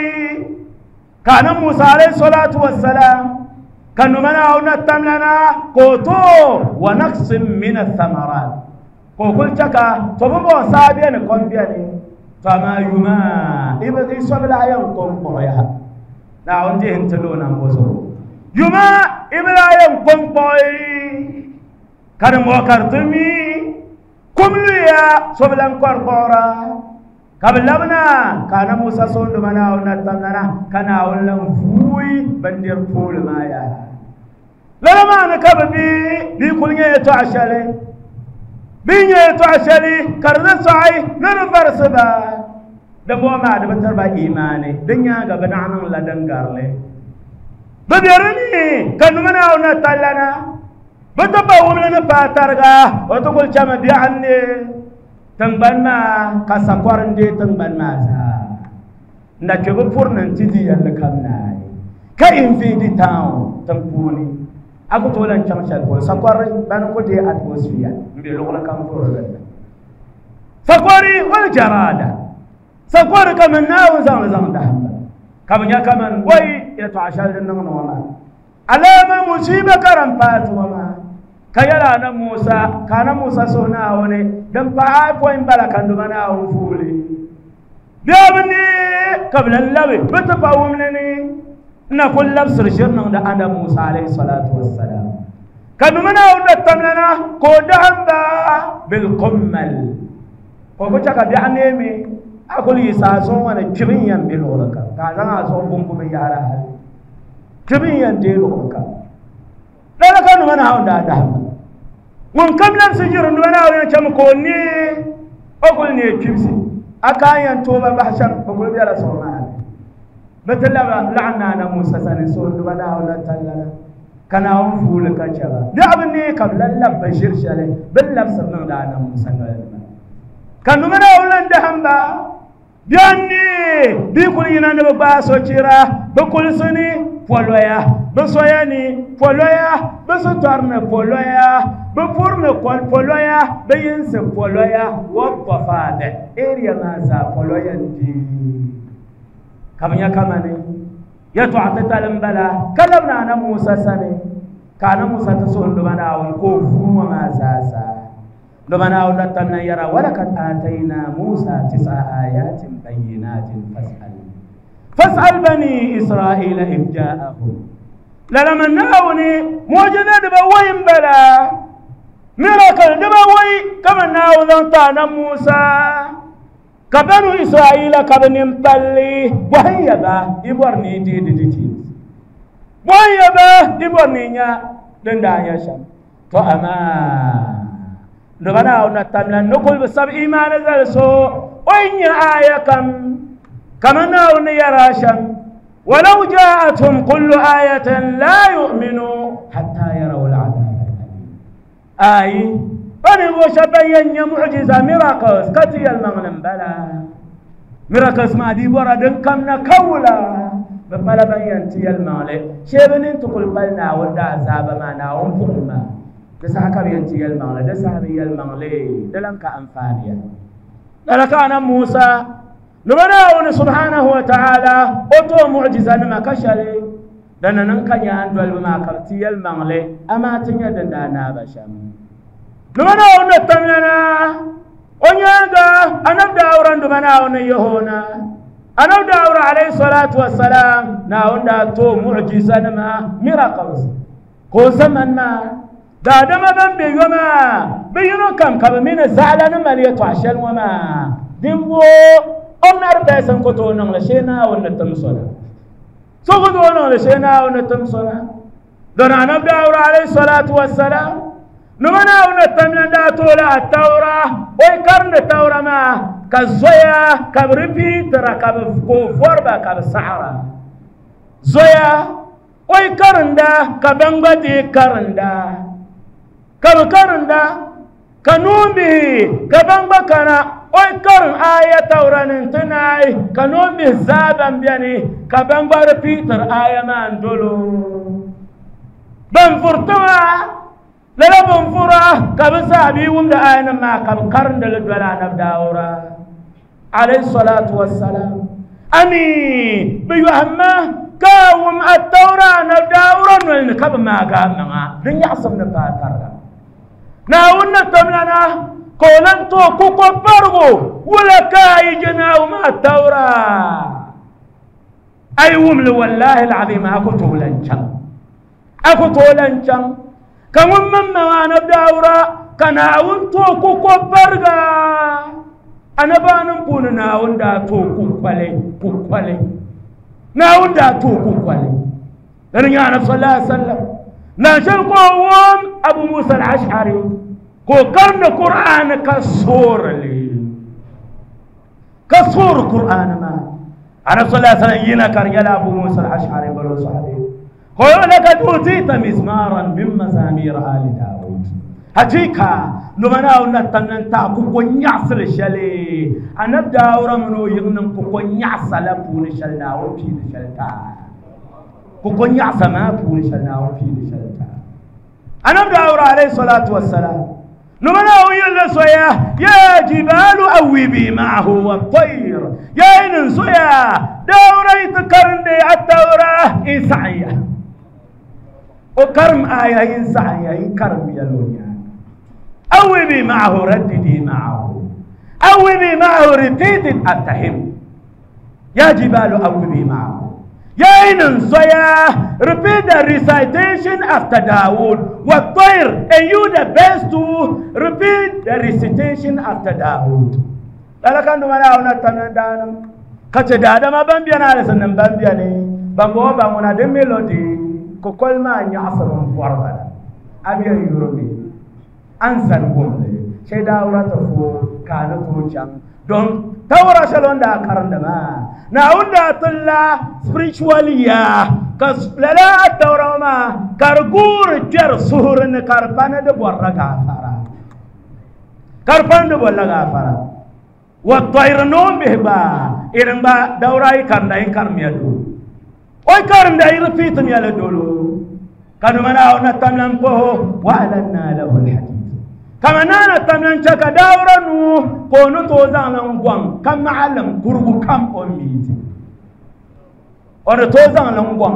ka ana Musa alayhi salatu wassalam ka numa Naawuni na tamlana ka o tooi wa naqsin min athamarat ka o kuli chɛ ka to bi bɔŋɔ saa beni kom beni to amaa yuma i sobilahi yɛn kom kpuɣi yaha Naawuni dihi n-ti lo o nambo zuɣu yuma i bi lahi yɛn kom kpuɣi ka di mɔɣi ka di ti mi kum luya so bi lan kɔri kpuɣira ka bi labina ka ana Musa soonduma Naawuni na tamlana ka Naawuni lan vuui bindiri pooli maa yaha lala maa ni ka bi bi bi kuli nyɛ yɛltɔɣa shɛli bi nyɛ yɛltɔɣa shɛli ka di ni sɔɣi ni di varisi ba di bɔŋɔ maa di bi tiri ba imaani di nyaanga bi naɣ niŋla din garili bi be di ni ka numa Naawuni na tallana bi ti pa wumli ni paai tariga o ti kuli chɛmi biɛɣu ni tiŋgbani maa ka sakɔri n-deei tiŋgbani maa zaa n da kpe bi puri ni n-ti di yɛlli kam naai ka invade town tiŋ puuni a ku tooi lan chaŋ shɛli polo sakɔri bani ku deei atmosphere n be luɣuli kam polo dinni sakɔri wal jarada sakɔri kaman Naawuni zaŋli zaŋ dahim ba ka bi nya kaman wai yɛltɔɣa shɛli din niŋdi ŋɔ maa alama musiba ka din paai ti ŋɔ maa ka yɛli ana Musa ka ana Musa suhu Naawuni din paai pɔi n-bala ka numa Naawuni vuuli biɛbi ni ka bi lan labi bi ti pa wumli ni n na kuli labisiri ʒiri niŋdi ana Musa alayhi salatu wassalam ka numa Naawuni na tamlana ka o dahim ba bilqummal ka o ku chɛ ka biɛɣu neemi a kuli yi saa zuɣu ŋɔ ni kpibi n yɛn be luɣuli kam ka a zaŋ a zuɣu bumbu binyahari hali kpibi n yɛn deei luɣuli kam lala ka numa Naawuni daa dahim ba ŋun kam labisi ʒiri numa Naawuni yɛn chɛmi ka o neei o kuli neei kpibisi a ka a yɛn tooi ba bahi shɛm bi kuli bela zuɣu maa ni bi ti labi laɣim na ana Musa sani suhu numa Naawuni na tallana ka Naawuni vuuli ka chɛ ba biɛɣu bi neei ka bi lan labi ba ʒiri shɛli bi ni labisiri niŋdi ana Musa noli ni maa ka numa Naawuni lan dahim ba biɛni bi kuli yina ni bi gbaai sochira bi kulisi ni poloya bi soya ni poloya bi sitɔri ni poloya bi puri ni poloya bi yinsi poloya wa tɔfaadɛ area maa zaa poloya n-di ka bi nya kamani yɛltɔɣa titali n-bala ka labina ana Musa sani ka ana Musa ti suhi numa Naawuni ka o vuu ŋɔ maa zaa zaa numa Naawuni na tamna yɛra walakad aatayna Musa tisa ayatin bayinatin fas'al fas'al bani Israila idh ja'ahum lala man Naawuni mu'jiza dibawai n-bala miracle dibawai kaman Naawuni zaŋ ti ana Musa ka banu Israila ka bi nin palli bɔhin ya ba i bɔri ni i deei di details bɔhin ya ba i bɔri ni i nya din daa nya shɛm to amaa numa Naawuni na tamla ni kuli bi sabi imaani zali so o yi nya aya kam kaman Naawuni ni yɛra shɛm walau ja'athum kullu ayatin la yu'minu hatta yarawu al'adab al-alim ayi ba ninvuɣu shɛba ban yɛn nya mu'jiza miracles ka ti yɛlimaŋli n-bala miracles maa dii bɔra din kam na ka wula bi pala ban yɛn ti yɛlimaŋli shee bi nini ti kuli pali Naawuni daazaaba maa Naawuni buɣum maa di saha ka bi yɛn ti yɛlimaŋli di saha bi yɛlimaŋli di lan ka anfaani ya lala ka ana Musa nima Naawuni subhanahu wa ta'ala o tooi mu'jiza nima ka shɛli dina niŋ ka nyaan dolibi maa ka bi ti yɛlimaŋli amaa ti nya din daa naai ba shɛm nima Naawuni na tamlana o nyaanga anabi Daawuda nima Naawuni yahona anabi Daawuda alayhi salatu wassalam Naawuni daa tooi mu'jiza nima miracles ka o zaman maa daadama ban be yo maa bi yino kam ka bi mini zaɣala ni mali yɛltɔɣa shɛli ŋɔ maa dinvuɣu ordinary person ku tooi niŋli shee Naawuni ni tim so na so ku tooi niŋli shee Naawuni ni tim so na don anabi Daawuda alayhi salatu wassalam نمنا ونتمنى داتولا التوراة ويكرن التوراة ما كزويا كبربيترا كبفوربا كبسحرا زويا ويكرن دا كبنغتي كرن دا كبكرن دا كنومي كبنغكنا ويكرن آية توراة ننتناي كنومي زابن بياني كبنغر بيتر آية ما اندولو بنفرتوا لا بنفرة كبسابي ومد آية ما كبكرن دلدولا نبداورا عليه الصلاة والسلام أمي بيوهما كاوم التوراة نبداورا ونكب ما قامنا لن يحصل نباترنا ناونا تملنا كولنتو كوكو برغو ولا كاي جناو ما التوراة أي ومل والله العظيم أكو تولنشان أكو تولنشان كمن من ما نبداورا كناون تو كوكو برغا أنا بانم بون ناون دا تو كوكولي كوكولي ناون دا تو كوكولي لأن يا نبي صلى الله عليه وسلم ناشل قوم أبو موسى الأشعري كو قرن قرآن كسور لي كسور قرآن ما أنا صلى الله عليه وسلم ينا كريلا أبو موسى الأشعري بلو صحابي قال لقد أوتيت مزمارا من مزامير آل داود حقيقة نمنا ونتمنى تاكو نياسل شلي أنا داورا منو يغنم كو نياسل بون شلنا وبين شلتا كو نياسل ما بون شلنا وبين شلتا أنا داورا عليه الصلاة والسلام نمنا ويلا سويا يا جبال أوبي معه والطير يا إن سويا داورا يتكرن التوراة إنسانية وكرم آية إنسانية إن كرم يلونيا أوبي معه رددي معه أوبي معه repeat it after him يا جبال أوبي معه يا إن سويا repeat the recitation after Dawood والطير and you the best to repeat the recitation after Dawood لكن نمنا ونتمنى kace da adama bambiya na da sannan bambiya ne bango ba muna da melody ko kolma nya asaban farbala abiya yurubi an san gomle sai da wura ta fo kana to can don tawra shalon da karan da ma na unda tulla spiritually ya kas lala tawra ma kargur jar suhurun karfana da borra gafara karfana da borra gafara والطير نوم به با إرن با دوراي كان داين كان ميادو أي كان داين رفيت ميادولو كانوا منا ونتمنى به وألنا له الحديد كما نانا تمنى شك دورا نو كونو توزان لنقوان كم معلم كربو كم أميتي أنا توزان لنقوان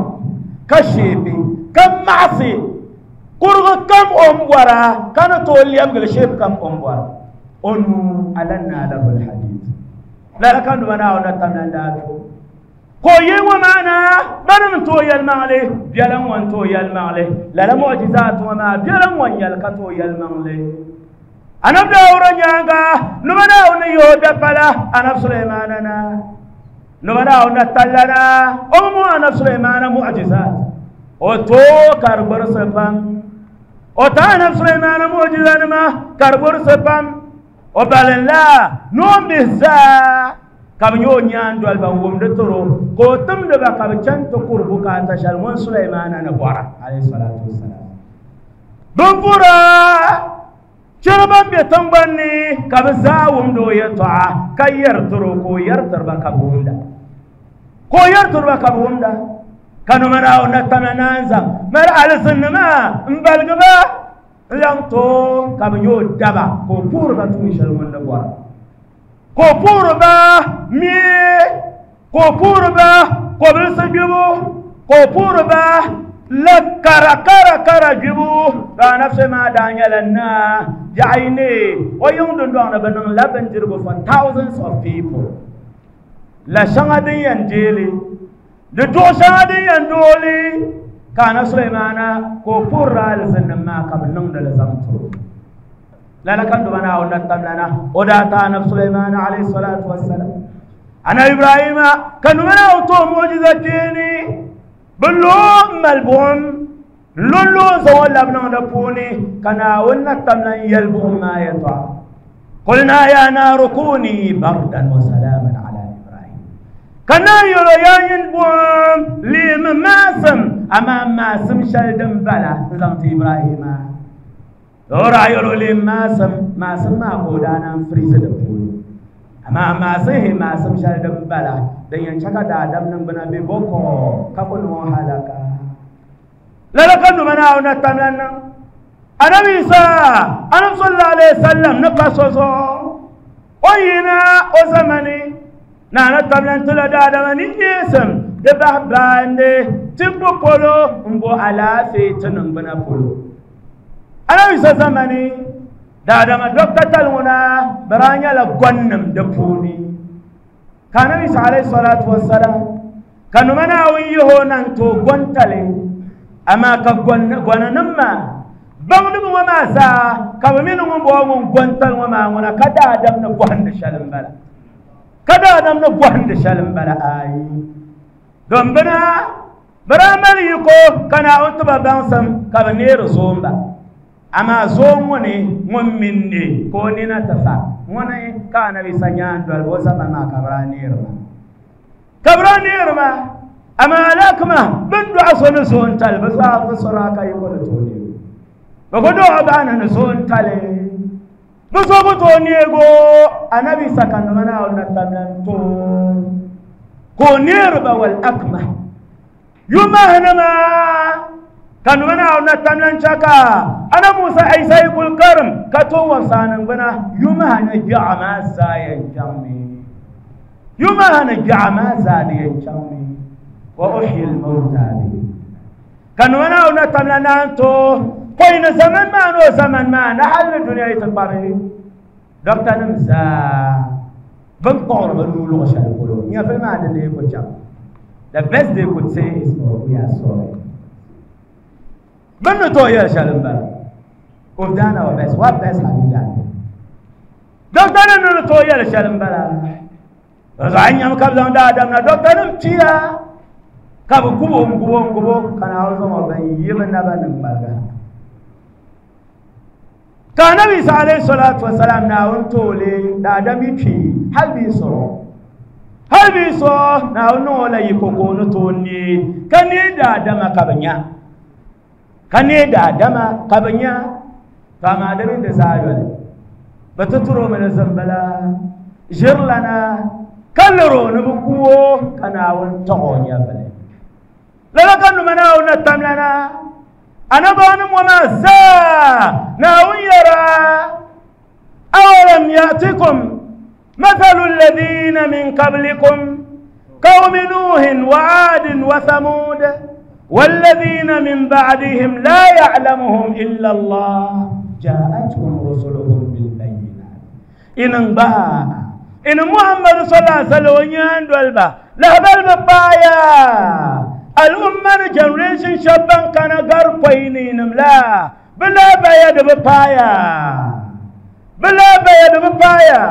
كشيبي كم معصي كربو كم أمورا كانوا تولي أمغل شيب كم أمورا أنو ألنا له الحديد لا كان منا ونتمنى دارو كوي ومعنا بنم توي المالي بيلم وان توي المالي لا لا معجزات وما بيلم وان يلقى توي المالي أنا بدور نيانغا نمنا ونيودا فلا أنا سليمان أنا نمنا ونتلنا أمو أنا سليمان معجزات وتو كربر سبام وتانا سليمان معجزات ما كربر سبام وبالن لا نوم بزا كم يونيان دوال بوم دترو كوتم دبا كم چنت قربو كاتشال من سليمان أنا بورا عليه الصلاة والسلام بمفورا شربان بيتنبني كبزاوم دو يطع كير ترو كوير تربا كبوندا كوير تربا كبوندا كانوا مراو نتمنانزا مر على سنما مبلغبا لانتو كم يودبا كوبور باتوشال من بورا كوبور با مي كوبور با كوبل سجبو كوبور با لا كارا كارا كارا جبو لا نفس ما دانيال نا جايني ويوم دون دون بنن لبن جربو for thousands of people لا شغادين ينجيلي لدو شغادين يندولي كان سليمان كوبور الزن ما قبل نون لزمتو لا لا كان دمنا ونتملنا وداتا نفس سليمان عليه الصلاة والسلام أنا إبراهيم كان منا وتو معجزتيني بلوم ملبوم Lolo zaŋ o labi niŋ di puuni ka Naawuni na tam lan yɛli buɣum maa yɛltɔɣa. Qulna ya naaru kuni bardan wa salaman ala Ibrahim. Ka naan yɛl o yaa nyin buɣum leemi maasim amaa maasim shɛli din bala n zaŋ ti Ibrahima. O daa yɛl o leemi maasim maasim maa ka o daa naan firizi di puuni. Amaa maasim hi maasim shɛli din bala din yɛn chɛ ka daadam niŋgbuna be bɔkɔ ka ku niŋ o halaka. Lala ka numa Naawuni na tam lan niŋ. Anabi Isa Anabi sallallahu alayhi wa sallam ni pa so zuɣu o yina o zamani na na tam lan tila daadama ni neesim di bahi baandi tibbu polo n bo alaafee ti niŋgbuna polo. Anabi Isa zamani daadama dɔkta tali ŋuna bɛ daa nyɛla gɔnnim di puuni. Ka Anabi Isa alayhi salatu wassalam ka numa Naawuni yihi o na n-ti o gɔntali amaa ka gɔnanim maa baŋdiba ŋɔ maa zaa ka bɛ mi ni ŋun bɔŋɔ ŋun gɔntali ŋɔ maa ŋuna ka daadam ni bɔhindi shɛli m-bala. Ka daadam ni bɔhindi shɛli m-bala ayi. Don bina bɛ daa mali yiko ka Naawuni ti ba baŋsim ka bɛ neeri zoomba. Amaa zoom ŋɔ ni ŋun mini ne ka o nina ti fa ŋuni ka Anabi Isa nyaandoliba o zamani maa ka bɛ daa neeri ba. Ka bɛ daa neeri ba amaa alakima bɛ ni dɔɣi so ni zoontali bɛ zaa bi sɔra ka yiko ni tooi neego. Bɛ ku dɔɣi baana ni zoontali bɛ so ku tooi neego Anabi Isa ka nima Naawuni na tam lan tooi ka o neeri ba wal akma yumahinima ka nima Naawuni na tam lan chɛ ka Anabi Musa Isa yi kuli karim ka tooi wabisa niŋgbuna yumaha ni gbiɛɣu maa zaa yɛn chaŋmi. Yumaha ni gbiɛɣu maa zaa di yɛn chaŋmi. Wa uhyi l-mawta bihi. Ka nima Naawuni na tam lan naan tooi pɔi ni zaman maa ni o zaman maa ni hali ni dunia yi ti kpabi dɔkta-nim zaa bɛ ni kpuɣiri bɛ nuu luɣ shɛli polo nyɛvili maa di lee ku chaŋ. The best they could say is, oh, we are sorry. Bɛ ni tooi yɛli shɛli m-bala. We've done our best. What best have you done? Dɔkta-nim ni tooi yɛli shɛli m-bala. Bɛ zaɣ nyam ka bɛ zaŋ daadam na dɔkta-nim pia ka bɛ gubo n-gubo n-gubo ka Naawuni zaŋ o ban yi bɛ naba ni ŋmaliga. Ka Anabi Isa alayhi salatu wasalam Naawuni tooli daadam yi kpi hali bɛ yi sɔrɔ. Hali bɛ yi sɔrɔ Naawuni niŋ o la yiko ka o ni tooi neei ka neei daadama ka bɛ nya. Ka neei daadama ka bɛ nya. To amaa di mini di zaa yoli bɛ ti turi o mi ni zimbila ʒirilana ka liri o ni bɛ ku o ka Naawuni tɔɣi o nyɛvili. Lala ka numa Naawuni na tam lana anabaanim ŋɔ maa zaa Naawuni yɛra awalam ya'tikum mathalu alladhina min qablikum qawmi nuhin wa 'adin wa thamud walladhina min ba'dihim la ya'lamuhum illa Allah ja'atuhum rusuluhum bil bayyinat. Inin ba in Muhammad sallallahu alaihi wasallam nyaandolba lahbal baya al'umma ni generation shabban kana gar poyni nim la bila baya da baya bila baya da baya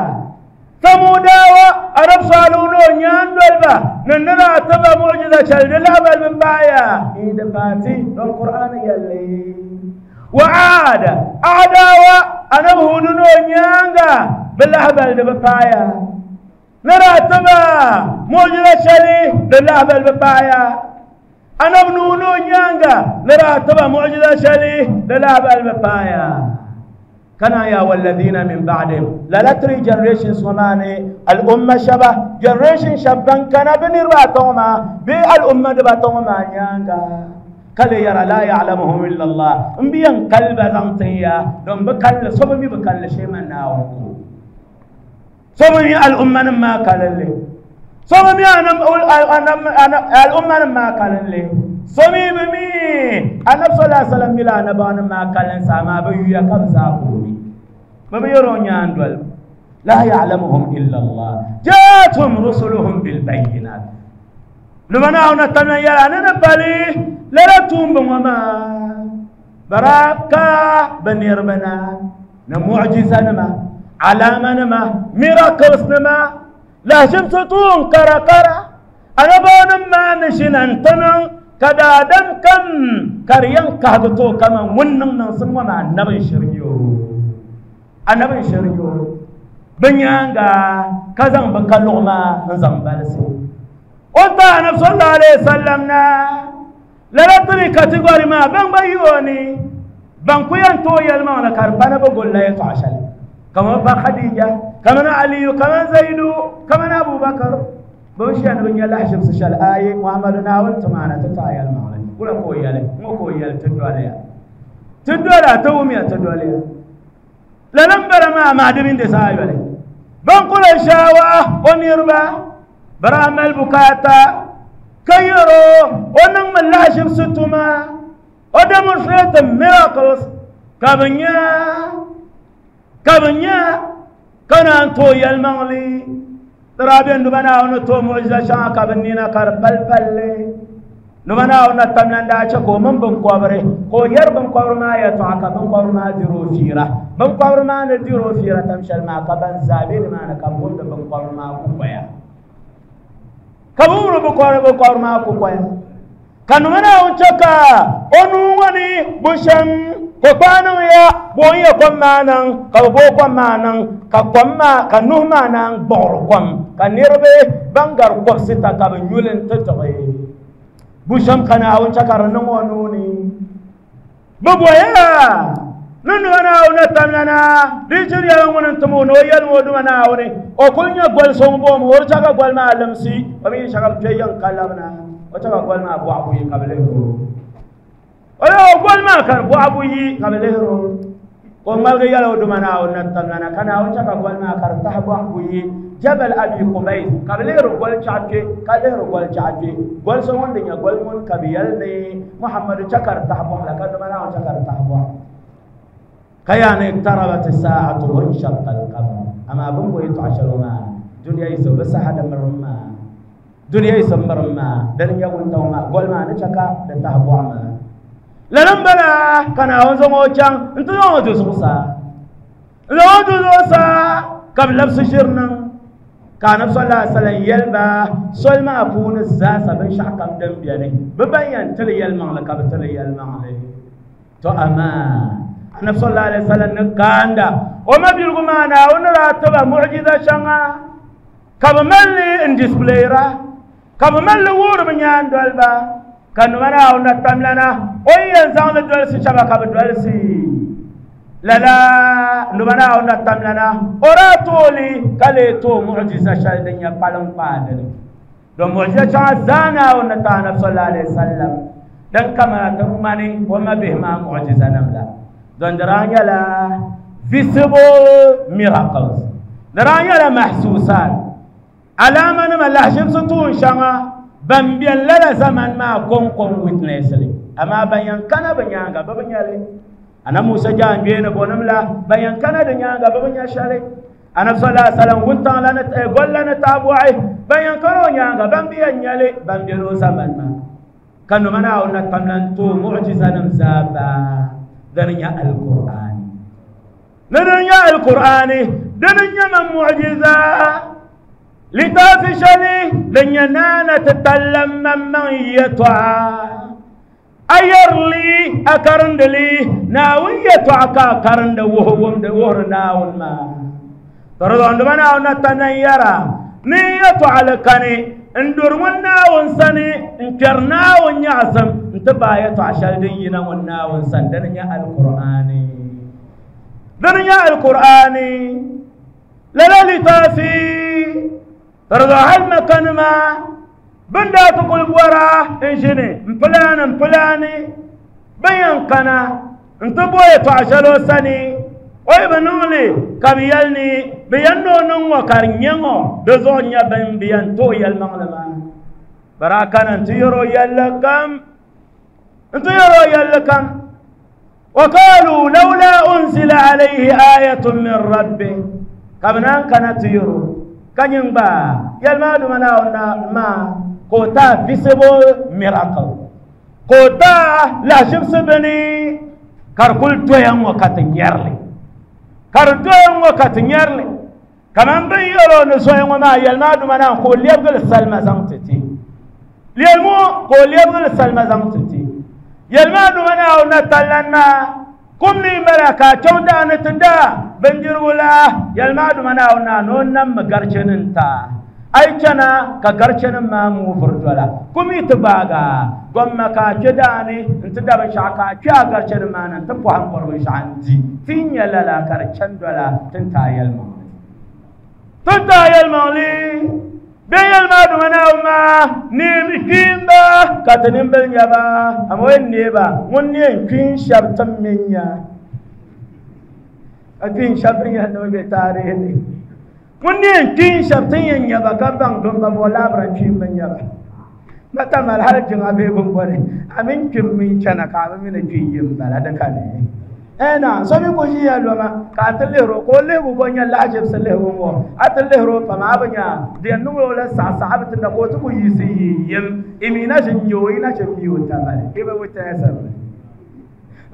samudawa arab saluno nyaandolba nanna taba mu'jiza chal da lahbal baya ida fati don qur'an yalle wa aada adawa anab huduno nyanga bilahbal da baya nara taba mu'jiza chali da lahbal baya anab nuno nyanga nara taba mu'jiza shali da lahbal baya kana ya walladhina min ba'dihim la la three generations wamane al umma shaba generation shaban kana bin ratoma bi al umma da batoma nyanga kale yara la ya'lamuhum illa Allah mbiyan kalba zantiya don bi kalle so bi bi kalle sheman nawo so bi al umma ma kalalle so bi anam anam al umma ma kalalle so bi mi anab sallallahu alaihi wasallam mila anaba ma kallen sama ba yuya kabza ko mi ba bi yoro nyaandol la ya'lamuhum illa Allah ja'atuhum rusuluhum bil bayyinat lumana ona tamna yara ne bali lala tumbu ngoma baraka banirmana na mu'jiza nama alama nama miracles nama la shimsutun kara kara anaba ma nishinan tanan Ka daadam kam ka di yɛn kahigi ti o kaman ŋun niŋ niŋsim ŋɔ maa annabi n-shiri nyɛ o. Annabi n-shiri nyɛ o. Bɛ nyaaŋa ka zaŋ bɛ kaluɣu maa n-zaŋ balisi. O ni ti Annabi sallallahu alayhi wa sallam na, lala three category maa ban gba yi o ni, ban ku yɛn tooi yɛlimaŋli ka di pa ni bɛ gulila yɛltɔɣa shɛli. Kaman pa Khadija, kaman Aliyu, kaman Zaidu, kaman Abubakar. Bɛ bi ʒiya ni bɛ nya lahaʒibisi shɛli ayi Muhammadu Naawuni ti maana ti taai yɛlimaŋli. Wula ka o yɛli? Ŋɔ ka o yɛli ti doliya. Ti doli ti wumiya ti doliya. Lala m-bala maa maa di mini di zaa yoli. Ban kuli shaawa o niriba bɛ daa mali bukaata ka yɛr o o niŋmi lahaʒibisi tuma o demonstrate miracles ka bɛ nya ka bɛ nya ka naan tooi yɛlimaŋli. Di daa beni duba Naawuni ni tooi muɣiza shɛŋa ka bɛ nina ka di pali palli. Duba Naawuni na tamla n-daa chɛ ka o mini binkɔbiri ka o yɛri binkɔbiri maa yɛltɔɣa ka binkɔbiri maa diri o fiira. Binkɔbiri maa ni diri o fiira tam shɛli maa ka ban zaa be nimaani ka bɛ wumdi binkɔbiri maa kukoya. Ka bɛ wumdi binkɔbiri binkɔbiri maa kukoya. Ka nima Naawuni chɛ ka o nuu ŋɔ ni bushɛm ko kpaa niŋ ya bo n yɛ kom maa niŋ ka bɛ booi kom maa niŋ ka kom maa ka nuhi maa naan gbuɣiri kom ka niriba ban gari kɔbisita ka bɛ nyuli n-ti tiɣi bushɛm ka Naawuni chɛ ka di niŋ o nuu ni. Bɛ boya ni nima Naawuni na tamlana di yi chiri yɛla ŋuni n-tim o ni o yɛlim o duma Naawuni o kuli nyɛ goli so ŋun booi o di chɛ ka goli maa limsi o mi yi chɛ ka bɛ kpe yiŋ ka labina o chɛ ka goli maa bɔɣu buyi ka bɛ lihiri o. O yɛli o goli maa ka di bɔɣu buyi ka bɛ lihiri o. Ka o ŋmaligi yɛli o duma Naawuni na tamlana ka Naawuni chɛ ka goli maa ka di tahi bɔɣu buyi Jabal Abi Qubays ka bɛ lihiri goli chaɣu kpe ka lihiri goli chaɣu kpe. Goli so ŋun di nyɛ goli ŋun ka bɛ yɛli ni Muhammadu chɛ ka di tahi bɔɣu la ka duma Naawuni chɛ ka di tahi bɔɣu. Ka yaa ni iqtarabat as-saa'atu wa inshaqqa al-qamar. Amaa bɛ ni bo yɛltɔɣa shɛli ŋɔ maa dunia yi so bɛ saha di mirim maa. Dunia yi so mirim maa dini nyɛ wuntaŋ maa goli maa ni chɛ ka di tahi bɔɣu maa. Lala m-bala ka Naawuni zaŋ o chaŋ nti zaŋ o du zuɣusaa. N-zaŋ o du zuɣusaa ka bɛ labisi ʒiri niŋ. Ka Anabi sallallahu alaihi wasallam yɛli ba soli maa puuni zaasa binshɛɣu kam din beni bɛ ban yɛn tili yɛlimaŋli ka bɛ tili yɛlimaŋli. To amaa Anabi sallallahu alaihi wasallam ni kaanda o mabiligu maa Naawuni ni daa ti ba mu'jiza shɛŋa ka bɛ mali li n-displayra ka bɛ mali li wuhiri bɛ nyaandoliba ka nima Naawuni na tamlana o yi yɛn zaŋ li dolisi shɛba ka bɛ dolisi. Lala nima Naawuni na tamlana o daa tooi li ka lee tooi mu'jiza shɛli din nyɛ kpaliŋ kpaa dini. Don mu'jiza shɛŋa zaa Naawuni ni ti Anabi sallallahu alaihi wasallam din kamana ti ŋmani o mabihi maa mu'jiza nim la. Don di daa nyɛla visible miracles. Di daa nyɛla mahsusat. Alaama nima lahaʒibisi tuun shɛŋa ban beni lala zaman maa kɔŋkɔŋ witness li. Amaa ban yɛn kana bɛ nyaaŋa bɛ bi nya li. Annabi Musa jaangbee ni bɔnim la ban yɛn kana di nyaaŋa bɛ bi nya shɛli. Anabi sallallahu alaihi wasallam wuntaŋ la ni gol la ni taabɔɣi ban yɛn kana o nyaaŋa ban bi yɛn nya li ban beni o zaman maa. Ka nima Naawuni na tamla n-tooi mu'jiza nim zaa baa dini nyɛ Al-Qur'ani. Ni dini nyɛ Al-Qur'ani dini nyɛ man mu'jiza litaafi shɛli din nyɛ naana ti talla maŋmaŋ yɛtɔɣa. A yɛri li a karindi li Naawuni yɛtɔɣa ka a karindi wuhi wumdi wuhiri Naawuni maa. To di zuɣu nima Naawuni na tamla n-yɛra ni yɛtɔɣa li kani n-duri ŋun Naawuni sani n-kpɛri Naawuni nyaɣisim n-ti baai yɛtɔɣa shɛli din yina ŋun Naawuni sani dini nyɛ Al-Qur'ani. Dini nyɛ Al-Qur'ani. Lala litaafi to di zuɣu hali Makanima bɛn daa ti kuli bɔra n-ʒini m-pilaani m-pilaani bɛn yɛn kana n-ti bo yɛtɔɣa shɛli o sani o yi bi niŋ li ka bɛ yɛli ni bɛ yɛn ni o niŋ ŋɔ ka di nyɛ ŋɔ di zuɣu nyɛ bɛn bi yɛn tooi yɛlimaŋli maa. Bɛ daa kana nti yɛri o yɛlli kam nti yɛri o yɛlli kam. وقالوا لولا أنزل عليه آية من ربه ka bɛ naan kana ti yɛri o ka nyin gba yɛli maa duma Naawuni ma ka o taai visible miracle ka o taai lahaʒibisi bini ka di kuli doya ŋɔ ka ti nyɛri li ka di doya ŋɔ ka ti nyɛri li kaman bɛ ni yɛli o ni zoya ŋɔ maa yɛli maa duma Naawuni ka o lɛbigili salima zaŋ ti ti Yelmo ko lebul salma zaŋ ti ti yelma duma na na tallanna kum ni malaka chonda ni tinda bindirigu la yelma duma na na no nam garchenin ta ai chana ka garchenin ma mu furdola kum itibaga gomma ka kedani nti da bin shaka kya garchenin ma nan ta pohan korbin shanti tin yalala kar chandola tin ta yelma tin ta yelma li beyel ma duma na ma ni mi kimba katanin bel nyaba amoyen neba won ne kin shab tammenya akin shab nya no be tare ni won ne kin shab tan nyaba ka bang don ba bola bran kin ban nyaba mata mal har jin abe bun bone amin kin min chana ka min kin yin bala da kane ena so mi ko jiya loma ka talero ko lebo bonya lajib salehu wo atalero pa ma banya de nulo la sa sahabatu da ko to ko yisi yim imina jin yo ina jin miyo tamale e ba wuta sab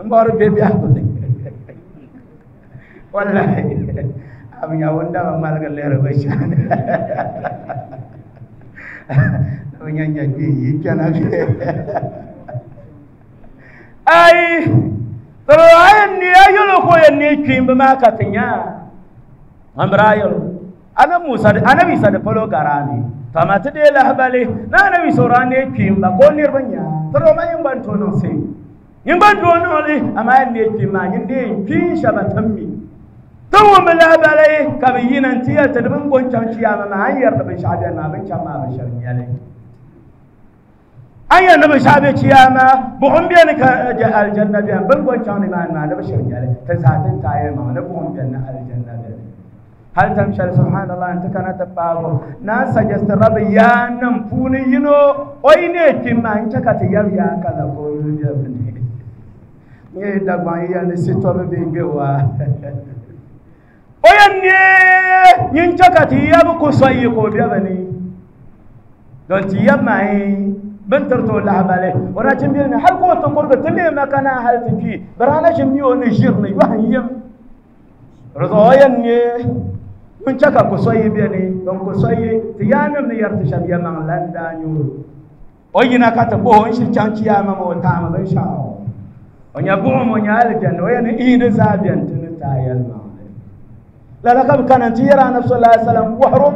mbar be bi akko wallahi abinya wonda ma malga lero ba shan abinya nya bi yi kana bi ai toro ni ayolo ko ni kimba ma katinya ambrayolo ana musa ana bisa de polo garani tamate de lahbale na ana bisorane kimba ko nirbanya toro ma yimban to no se yimban to no le ama ni kimba yinde kin shabatammi to won lahbale ka bi yinan tiya ta dubin goncan ciyama ma hanyar da bin shabe ma bin chama ba sharmiyale aya nabi shabe ciyama buhum biyan ka aljanna biyan bin goncan ne ma ma nabi sharmiyale ta satin taye ma na buhum biyan na aljanna biyan hal tamshal subhanallah anta kana tabago na suggest rab ya nan puni yino oi ne kimma in chaka ta yab ya kaza ko biya ne ne da ban ya ne sito be ngewa oyan ne yin chaka ta yab ko soyi ko biya bane don ti yab mai bin tarto lahbale wana cin biya ne hal ko to korga tille makana hal tifi barana jin miyo ne jirne yohan yim rozoyan ne mun caka ko soyi be ne don ko soyi ti yanam ne yarta sham yaman landa nyuru o yina kata bo on shi canci ya ma mo ta ma ban sha o nya bo mo nya aljan o yana ida zabiyan tun ta yalma la la kam kana ti yara na sallallahu alaihi wasallam wahru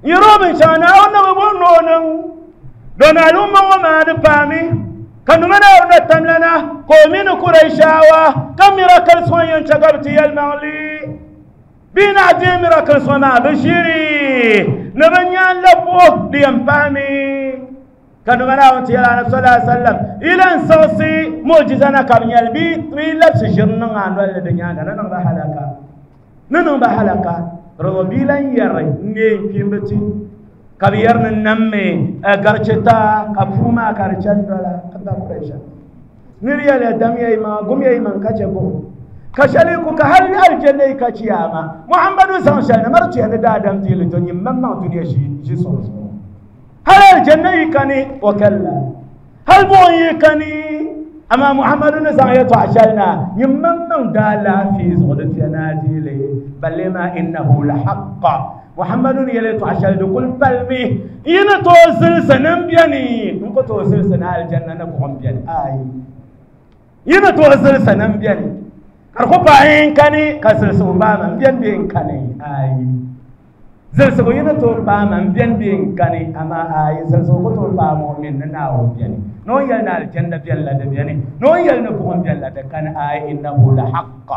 yiro bin shana wannan bo no nan don al'umma wa ma da fami kanu mana wannan tamlana ko min quraishawa kam miracle soyan chagabti yalma li bina de miracle soma bashiri nabanya labo liyamfami kanu mana wanti ya nabi sallallahu alaihi wasallam ilan sawsi mu'jizana kam yalbi trilab sijirna ngandol de nyanga nan ba halaka nan ba halaka robilan yare ne kimbati kabiyar nan namme garcheta kafuma karchan dola abba quraisha niriya la damiya ma gumiya man kace bo kashali ku ka hal aljanna ka ciyama muhammadu san shan marci ne da adam dili to nyim mamma duniya shi shi so hal aljanna kani wa kalla hal bo kani amma muhammadu ne san ya to ashalna nyim mamma da la fi zuwadati na dili balle ma innahu la haqq muhammadu yele to ashal dukul palmi ina to silsanan biyani in ko to silsana aljanna na ko biyani ai ina to silsanan biyani karko bayin kani ka silsu ba man biyan biyan kani ai silsu ina to ba man biyan biyan kani amma ai silsu ko to ba mu'min na nawo biyani no yel na aljanna biyan la da biyani no yel na ko biyan la da kan ai innahu la haqq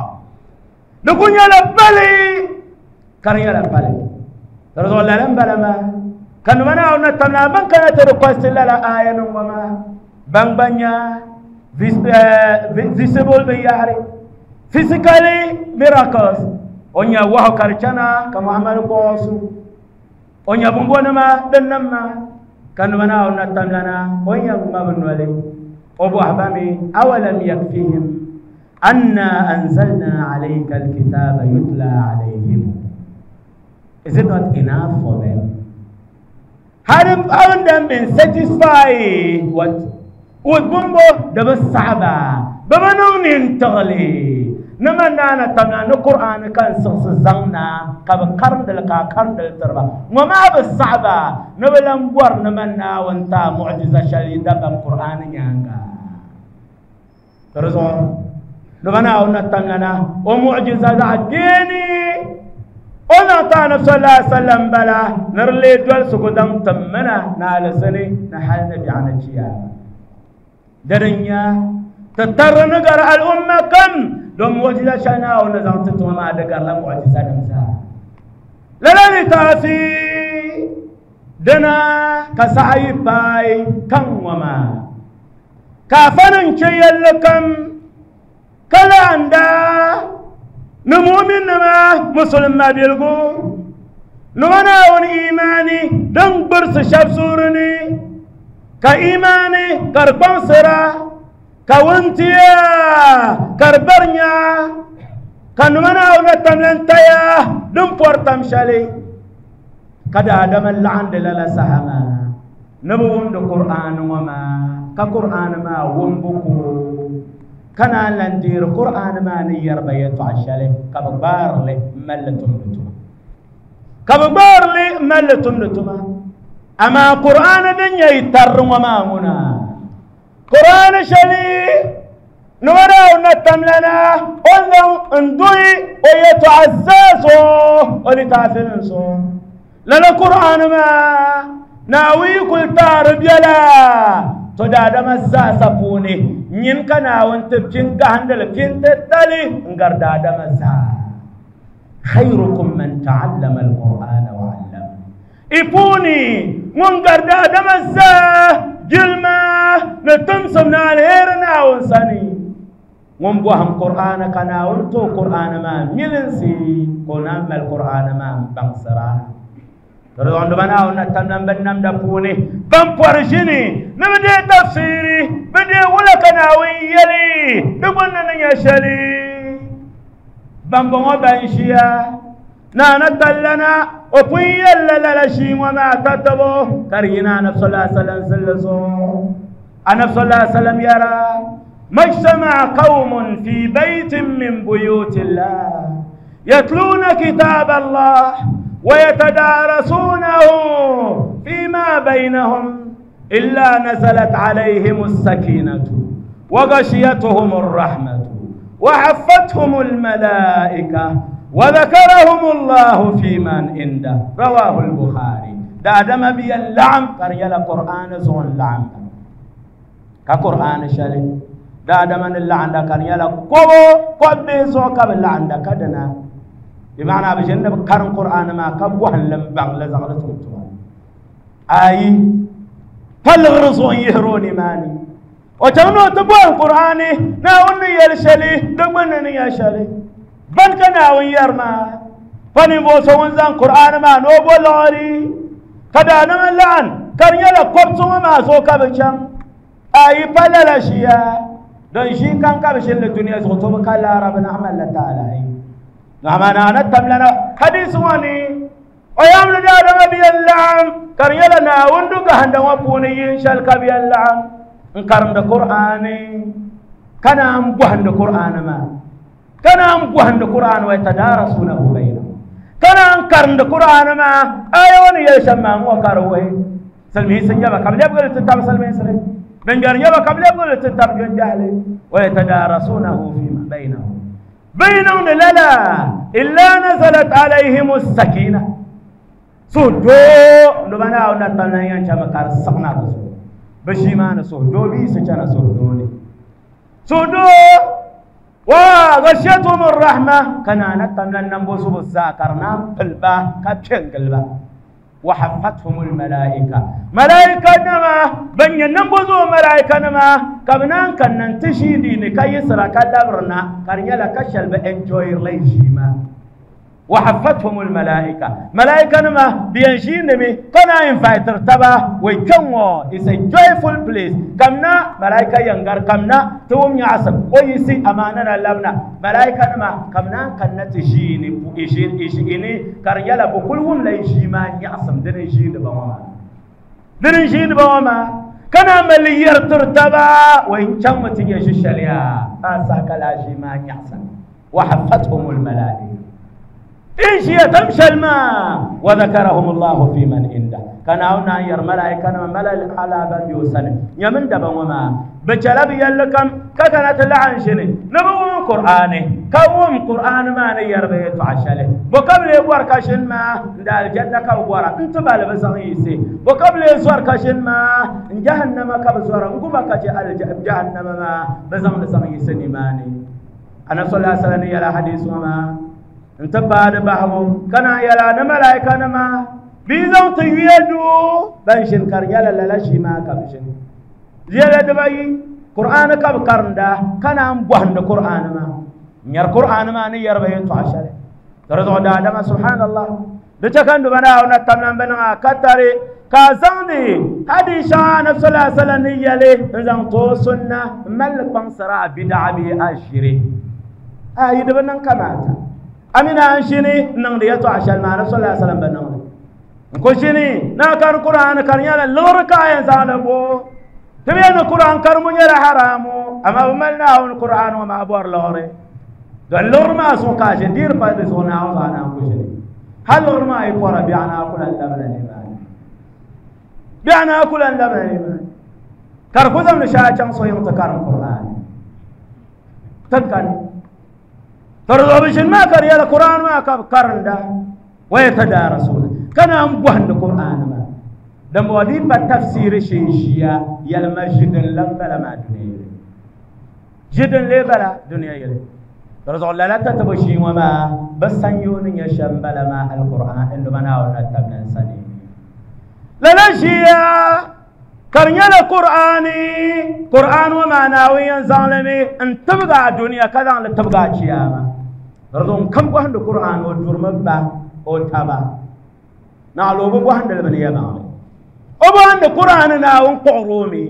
dukun yala bali kan yala bali رسول الله لم بلما كان منا ونتمنا من كانت request لا آية وما بان بانيا visible بياري physically miracles onya waho karchana kama Muhammad bosu onya bumbona ma dannamma kan mana ونتمنا onya mabnwale obu ahbami awalam yakfihim anna anzalna alayka alkitaba yutla alayhim. Is it not enough for them? Hadn't, haven't them been satisfied? What? With bumbo, the saba, babanun in tali. Nima naana tamna ni Qur'an kan siɣisi zaŋ na ka bi karindili ka a karindili tiriba ŋɔ maa bi saɣaba ni bi lan bɔri nima Naawuni ti a mu'jiza shɛli dabam Qur'an nyaanga di zuɣu nima Naawuni na tamna na o mu'jiza zaɣ kpeeni o zaŋ ti Anabi sallallahu alaihi wasallam bala ni di lee dolisigu daŋ timmina ni alizini ni hali ni biɛɣu ni chiyaama di din nya ti tarri ni gari al'umma kam don mu'jiza shɛli Naawuni ni zaŋ ti tuma maa di garila mu'jiza nim zaa lala ni taafi dina ka saha yi paai kaŋ ŋɔ maa ka afa nim che yɛlli kam ka laɣinda ni mu'minnima musulima biligu nima Naawuni imaani din gbirisi shɛba suuri ni ka imaani ka di kpaŋsira ka wuntiya ka di bari nya ka nima Naawuni na tamlan taya din pɔri tam shɛli ka daadama laɣindi lala saha maa ni bi wumdi Qur'an ŋɔ maa ka Qur'an maa wumbu ko ka naan lan deeri Qur'an maa ni yɛriba yɛltɔɣa shɛli ka bi gbaarili m-malli tumdi tuma ka bi gbaarili m-malli tumdi tuma amaa Qur'an din nyɛ yi tarri ŋɔ maa ŋuna Qur'an shɛli nima Naawuni na tamlana o zaŋ n duhi o yɛltɔɣa zaa zuɣu o litaafinim zuɣu lala Qur'an maa Naawuni kuli taari biɛla to daadama zaasa puuni nyin ka Naawuni ti pin gahindili pin titali n gari daadama zaa khayrukum man ta'allama al-Qur'ana wa 'allama i puuni ŋun gari daadama zaa jilma ni timsim ni alheri Naawuni sani ŋun bɔhim Qur'ana ka Naawuni to Qur'ana maa milinsi ka o naan mali Qur'ana maa n baŋsira Rwanda Naawuni na tamlan bin namda puuni ban pɔri ʒini ni bi deei tafsiri bi deei wula ka Naawuni yɛli di gbunni ni nyɛ shɛli ban bɔŋɔ ban ʒiya naana tallana o pun yɛlila lala ʒii ŋɔ maa tatabo ka di yina Anabi sallallahu alaihi wasallam zilli zuɣu Anabi sallallahu alaihi wasallam yɛra majtama'a qawmun fi baytin min buyutillah yatluna kitab Allah ويتدارسونه فيما بينهم إلا نزلت عليهم السكينة وغشيتهم الرحمة وحفتهم الملائكة وذكرهم الله في من عنده رواه البخاري دا دم بي اللعم قرية القرآن زون لعم كقرآن شلي دا دم اللعن دا قرية قبو قبي زو قبل اللعن دا كدنا بمعنى بجنب قرن قرآن ما كبوهن لم بان لزغلتهم أي فالغرزون يهروني ماني وتنو تبوه القرآن ناوني يلشلي دمنني يشلي بنك ناون يرما فنبوسو ونزان قرآن ما نوبو لاري كدانا من لعن كان يلا قبصو ما سوكا بشام أي فلالشيا دون شي كان كبشل الدنيا زغطو بكالا ربنا عمل لتعالى نعم أنا نتم لنا حديث واني ويام لدادم بي اللعم كان يلا ناوندو قهند وفوني ينشل كبي اللعم انقرم دا قرآني كان أمبوهن دا قرآن ما كان أمبوهن دا قرآن ويتدارسونه بينهم كان أنكرم دا قرآن ما أيون يشمع وكروه سلمي سنجابا قبل يبقى لتتاب سلمي سلمي من جرنجابا قبل يبقى لتتاب جنجالي ويتدارسونه فيما بينهم بينهم لا إلا نزلت عليهم السكينة سودو نبنا ونتنا ينشأ مكار سقنا بسو بشيمان سودو بي سجنا سودوني سودو وغشيتهم الرحمة كنا نتمنى ننبوس بالزاكرنا قلبا كبشن قلبا وحفتهم الملائكة ملائكة نما بني ننبوزو ملائكة نما كبنان كان ننتشي ديني كي يسرى كالبرنا كرنيالا كشل بإنجوير ليجيما وحفتهم الملائكة ملائكة نما بينجي نمي كنا انفايتر تبا ويكونو it's a joyful place كمنا ملائكة ينغر كمنا توم يعصب ويسي أماننا لبنا ملائكة نما كمنا كنا تجيني إيشين إيشيني كرنيالا بكلهم ليجيما يعصب درنجين بواما درنجين بواما كنا مليار ترتبا وإن كان متيجي شليا أساك لا جيما يعصب وحفتهم الملائكة إيش هي تمشى الماء وذكرهم الله في من عنده كان هنا ير ملائكة ملائكة على بن يوسن يمن دبا وما بجلب يلكم ككنت لعن شني نبوم قرآني كوم قرآن ما نير بيت عشله وقبل يوركشن ما دال الجنة كورا انت بال بزغيسي وقبل يزوركشن ما جهنم كبزورا نقوم كجهل جهنم ما بزغ بزغيسي نماني أنا صلى الله عليه وسلم يلا حديث وما انت بعد بحو كان يلا ملائكة نما بيزو تيدو بنشن كريالا لا شي ما كبشن زيادة دبي قرآن كب كرندا كان أم بوهن قرآن ما نير قرآن ما نير بين تعشر ترى آدم سبحان الله دتكن دبنا ونتمنى بنا كتري كازندي هذه شان صلى الله عليه وسلم يلي نزان تو سنة ملك بنصرا بدع بأشري آه يدبنا كماتا أمين أنشيني نغني تعشر مع رسول الله صلى الله عليه وسلم بنغني كوشيني ناكر قرآن كريالا لوركا يزالبو تبين القرآن كرمون يلا حرامو أما بملنا هون القرآن وما أبور لوري دلور ما سوكاش دير بعد زونا وزانا كوشيني هل لور ما يقرأ بيعنا كل اللبن الإيمان بيعنا كل اللبن الإيمان كركوزم نشاء كم صيام تكرم القرآن تذكر ترضى بشن ما كريا القرآن ما كرندا ويتدارسون كان أم بوهن القرآن ما دم ودي بالتفسير شيشيا يلما جدا لبلا ما دنيا جدا لبلا دنيا يلي ترضى لا لا تتبشي وما بس سنيون يشم بلا ما القرآن إنه منا ونتبنا سنين لا لا شيا كرنيا القرآن قرآن وما ناوي ظالمي أن تبقى الدنيا كذا أن تبقى قيامة ترضى كم بوهن القرآن ودور مبا أو تبا نعلو بوهن البنية معي أبوهن القرآن ناون قرومي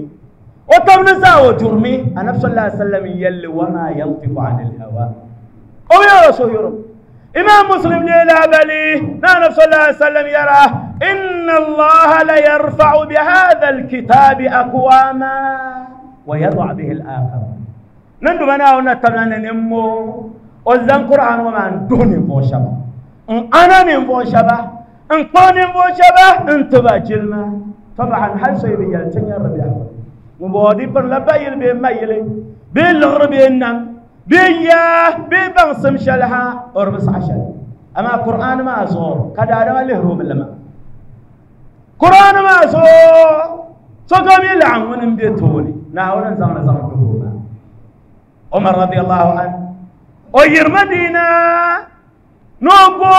وتبنزا وجرمي أنا صلى الله عليه وسلم يلي وما ينطق عن الهوى أو يا رسول الله إمام مسلم لا بلي نحن صلى الله عليه وسلم يرى إن الله ليرفع بهذا الكتاب أقواما ويضع به الآخر نندو بنا ونتبنا نمو وزن قرآن وما دون فوشبا أنا نفوشبا انقون فوشبا انتبه جلما طبعا هل سيبي يلتني الربيع وبودي بر لبايل بي مايلي بي الغرب النم بي بي بنصم شلها أربس عشر أما قرآن ما أزور كذا هذا اللي هروب لما قرآن ما أزور سقام يلعن ونم بيتوني ناول نزام نزام كهوما عمر رضي الله عنه أير مدينة نوبو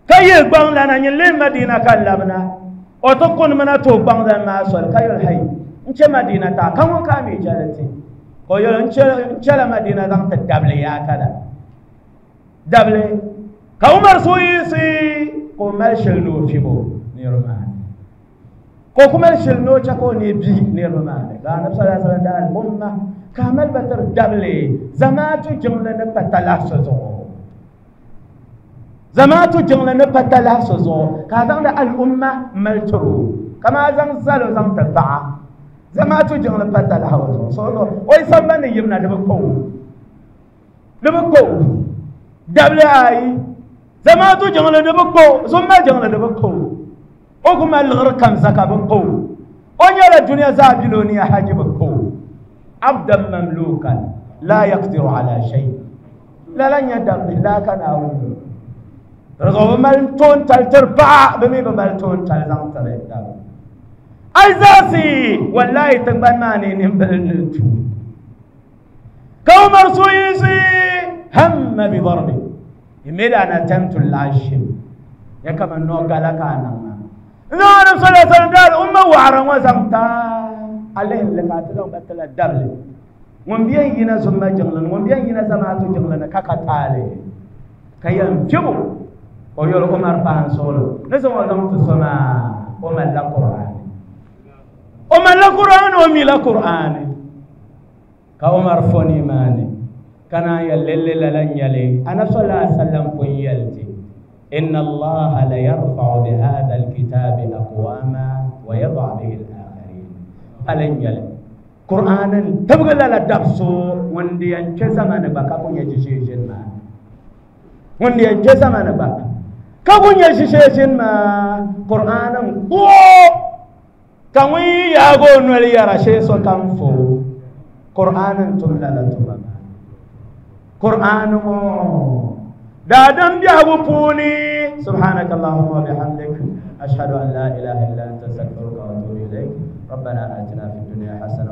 كي يبان لنا نلي مدينة كلامنا وتكون منا توبان لنا ما أزور كي الحي إنش مدينة تا كم كامي جالتي كيول إنش إنش مدينة دام تدبلي يا كذا دبلي كعمر سويسي كمال شلنو في بو نيرمان كمال شلنو تكو نبي نيرمان كان نبي صلى الله عليه وسلم دار الأمة كمال بتر دبلي زماتو جملة نبتلا سزو زماتو جملة نبتلا سزو كذا الأمة ملترو كما زم زالو زم تبع زماتو جملة نبتلا سزو سولو ويسمى يبنى دبكو دبكو دبلي أي زماتو جملة دبكو زما جملة دبكو أقوم الغر كم زكاة بكو أنيا الدنيا زابلوني حاجة بكو عبدا مملوكا لا يقدر على شيء لا لن يدم لا كان أقول رضو ملتون تل تربع بمي بملتون تل زم تربع أيزاسي والله تنبان ماني نبلنتو كومر سويسي هم بضربي يميل أنا تمت العشم يا كما نوغا لك أنا نعم صلى الله عليه وسلم قال أمة وعرا وزمتا عليه اللي قاتلهم بتلا الدبل ومبين ينا زما جنلن ومبين ينا زماتو جنلن كاكا كيان فيبو ويقول عمر فان سولو نزم وزمت السما ومن لا قرآن ومن لا قرآن ومي لا قرآن كعمر فوني ماني كان يلل لن يلي أنا صلى الله عليه وسلم فيلتي إن الله ليرفع بهذا الكتاب أقواما ويضع به الآخرين ألن يلي Qur'anin tibgi lala dabso ŋun di yɛn kpɛ zamani gba ka ku nyɛ ʒiʒeeʒini maa ŋun di yɛn kpɛ zamani gba ka ku nyɛ ʒiʒeeʒini maa Qur'anin kpoo ka ŋun yi yaagi o noli yɛra shee sokam fo Qur'anin tum lala tuma maa Qur'an ŋɔ daadam biɛhigu puuni subhanaka allahumma wa bihamdik ashhadu an la ilaha illa anta astaghfiruka wa atubu ilayk ربنا آتنا في الدنيا حسنة.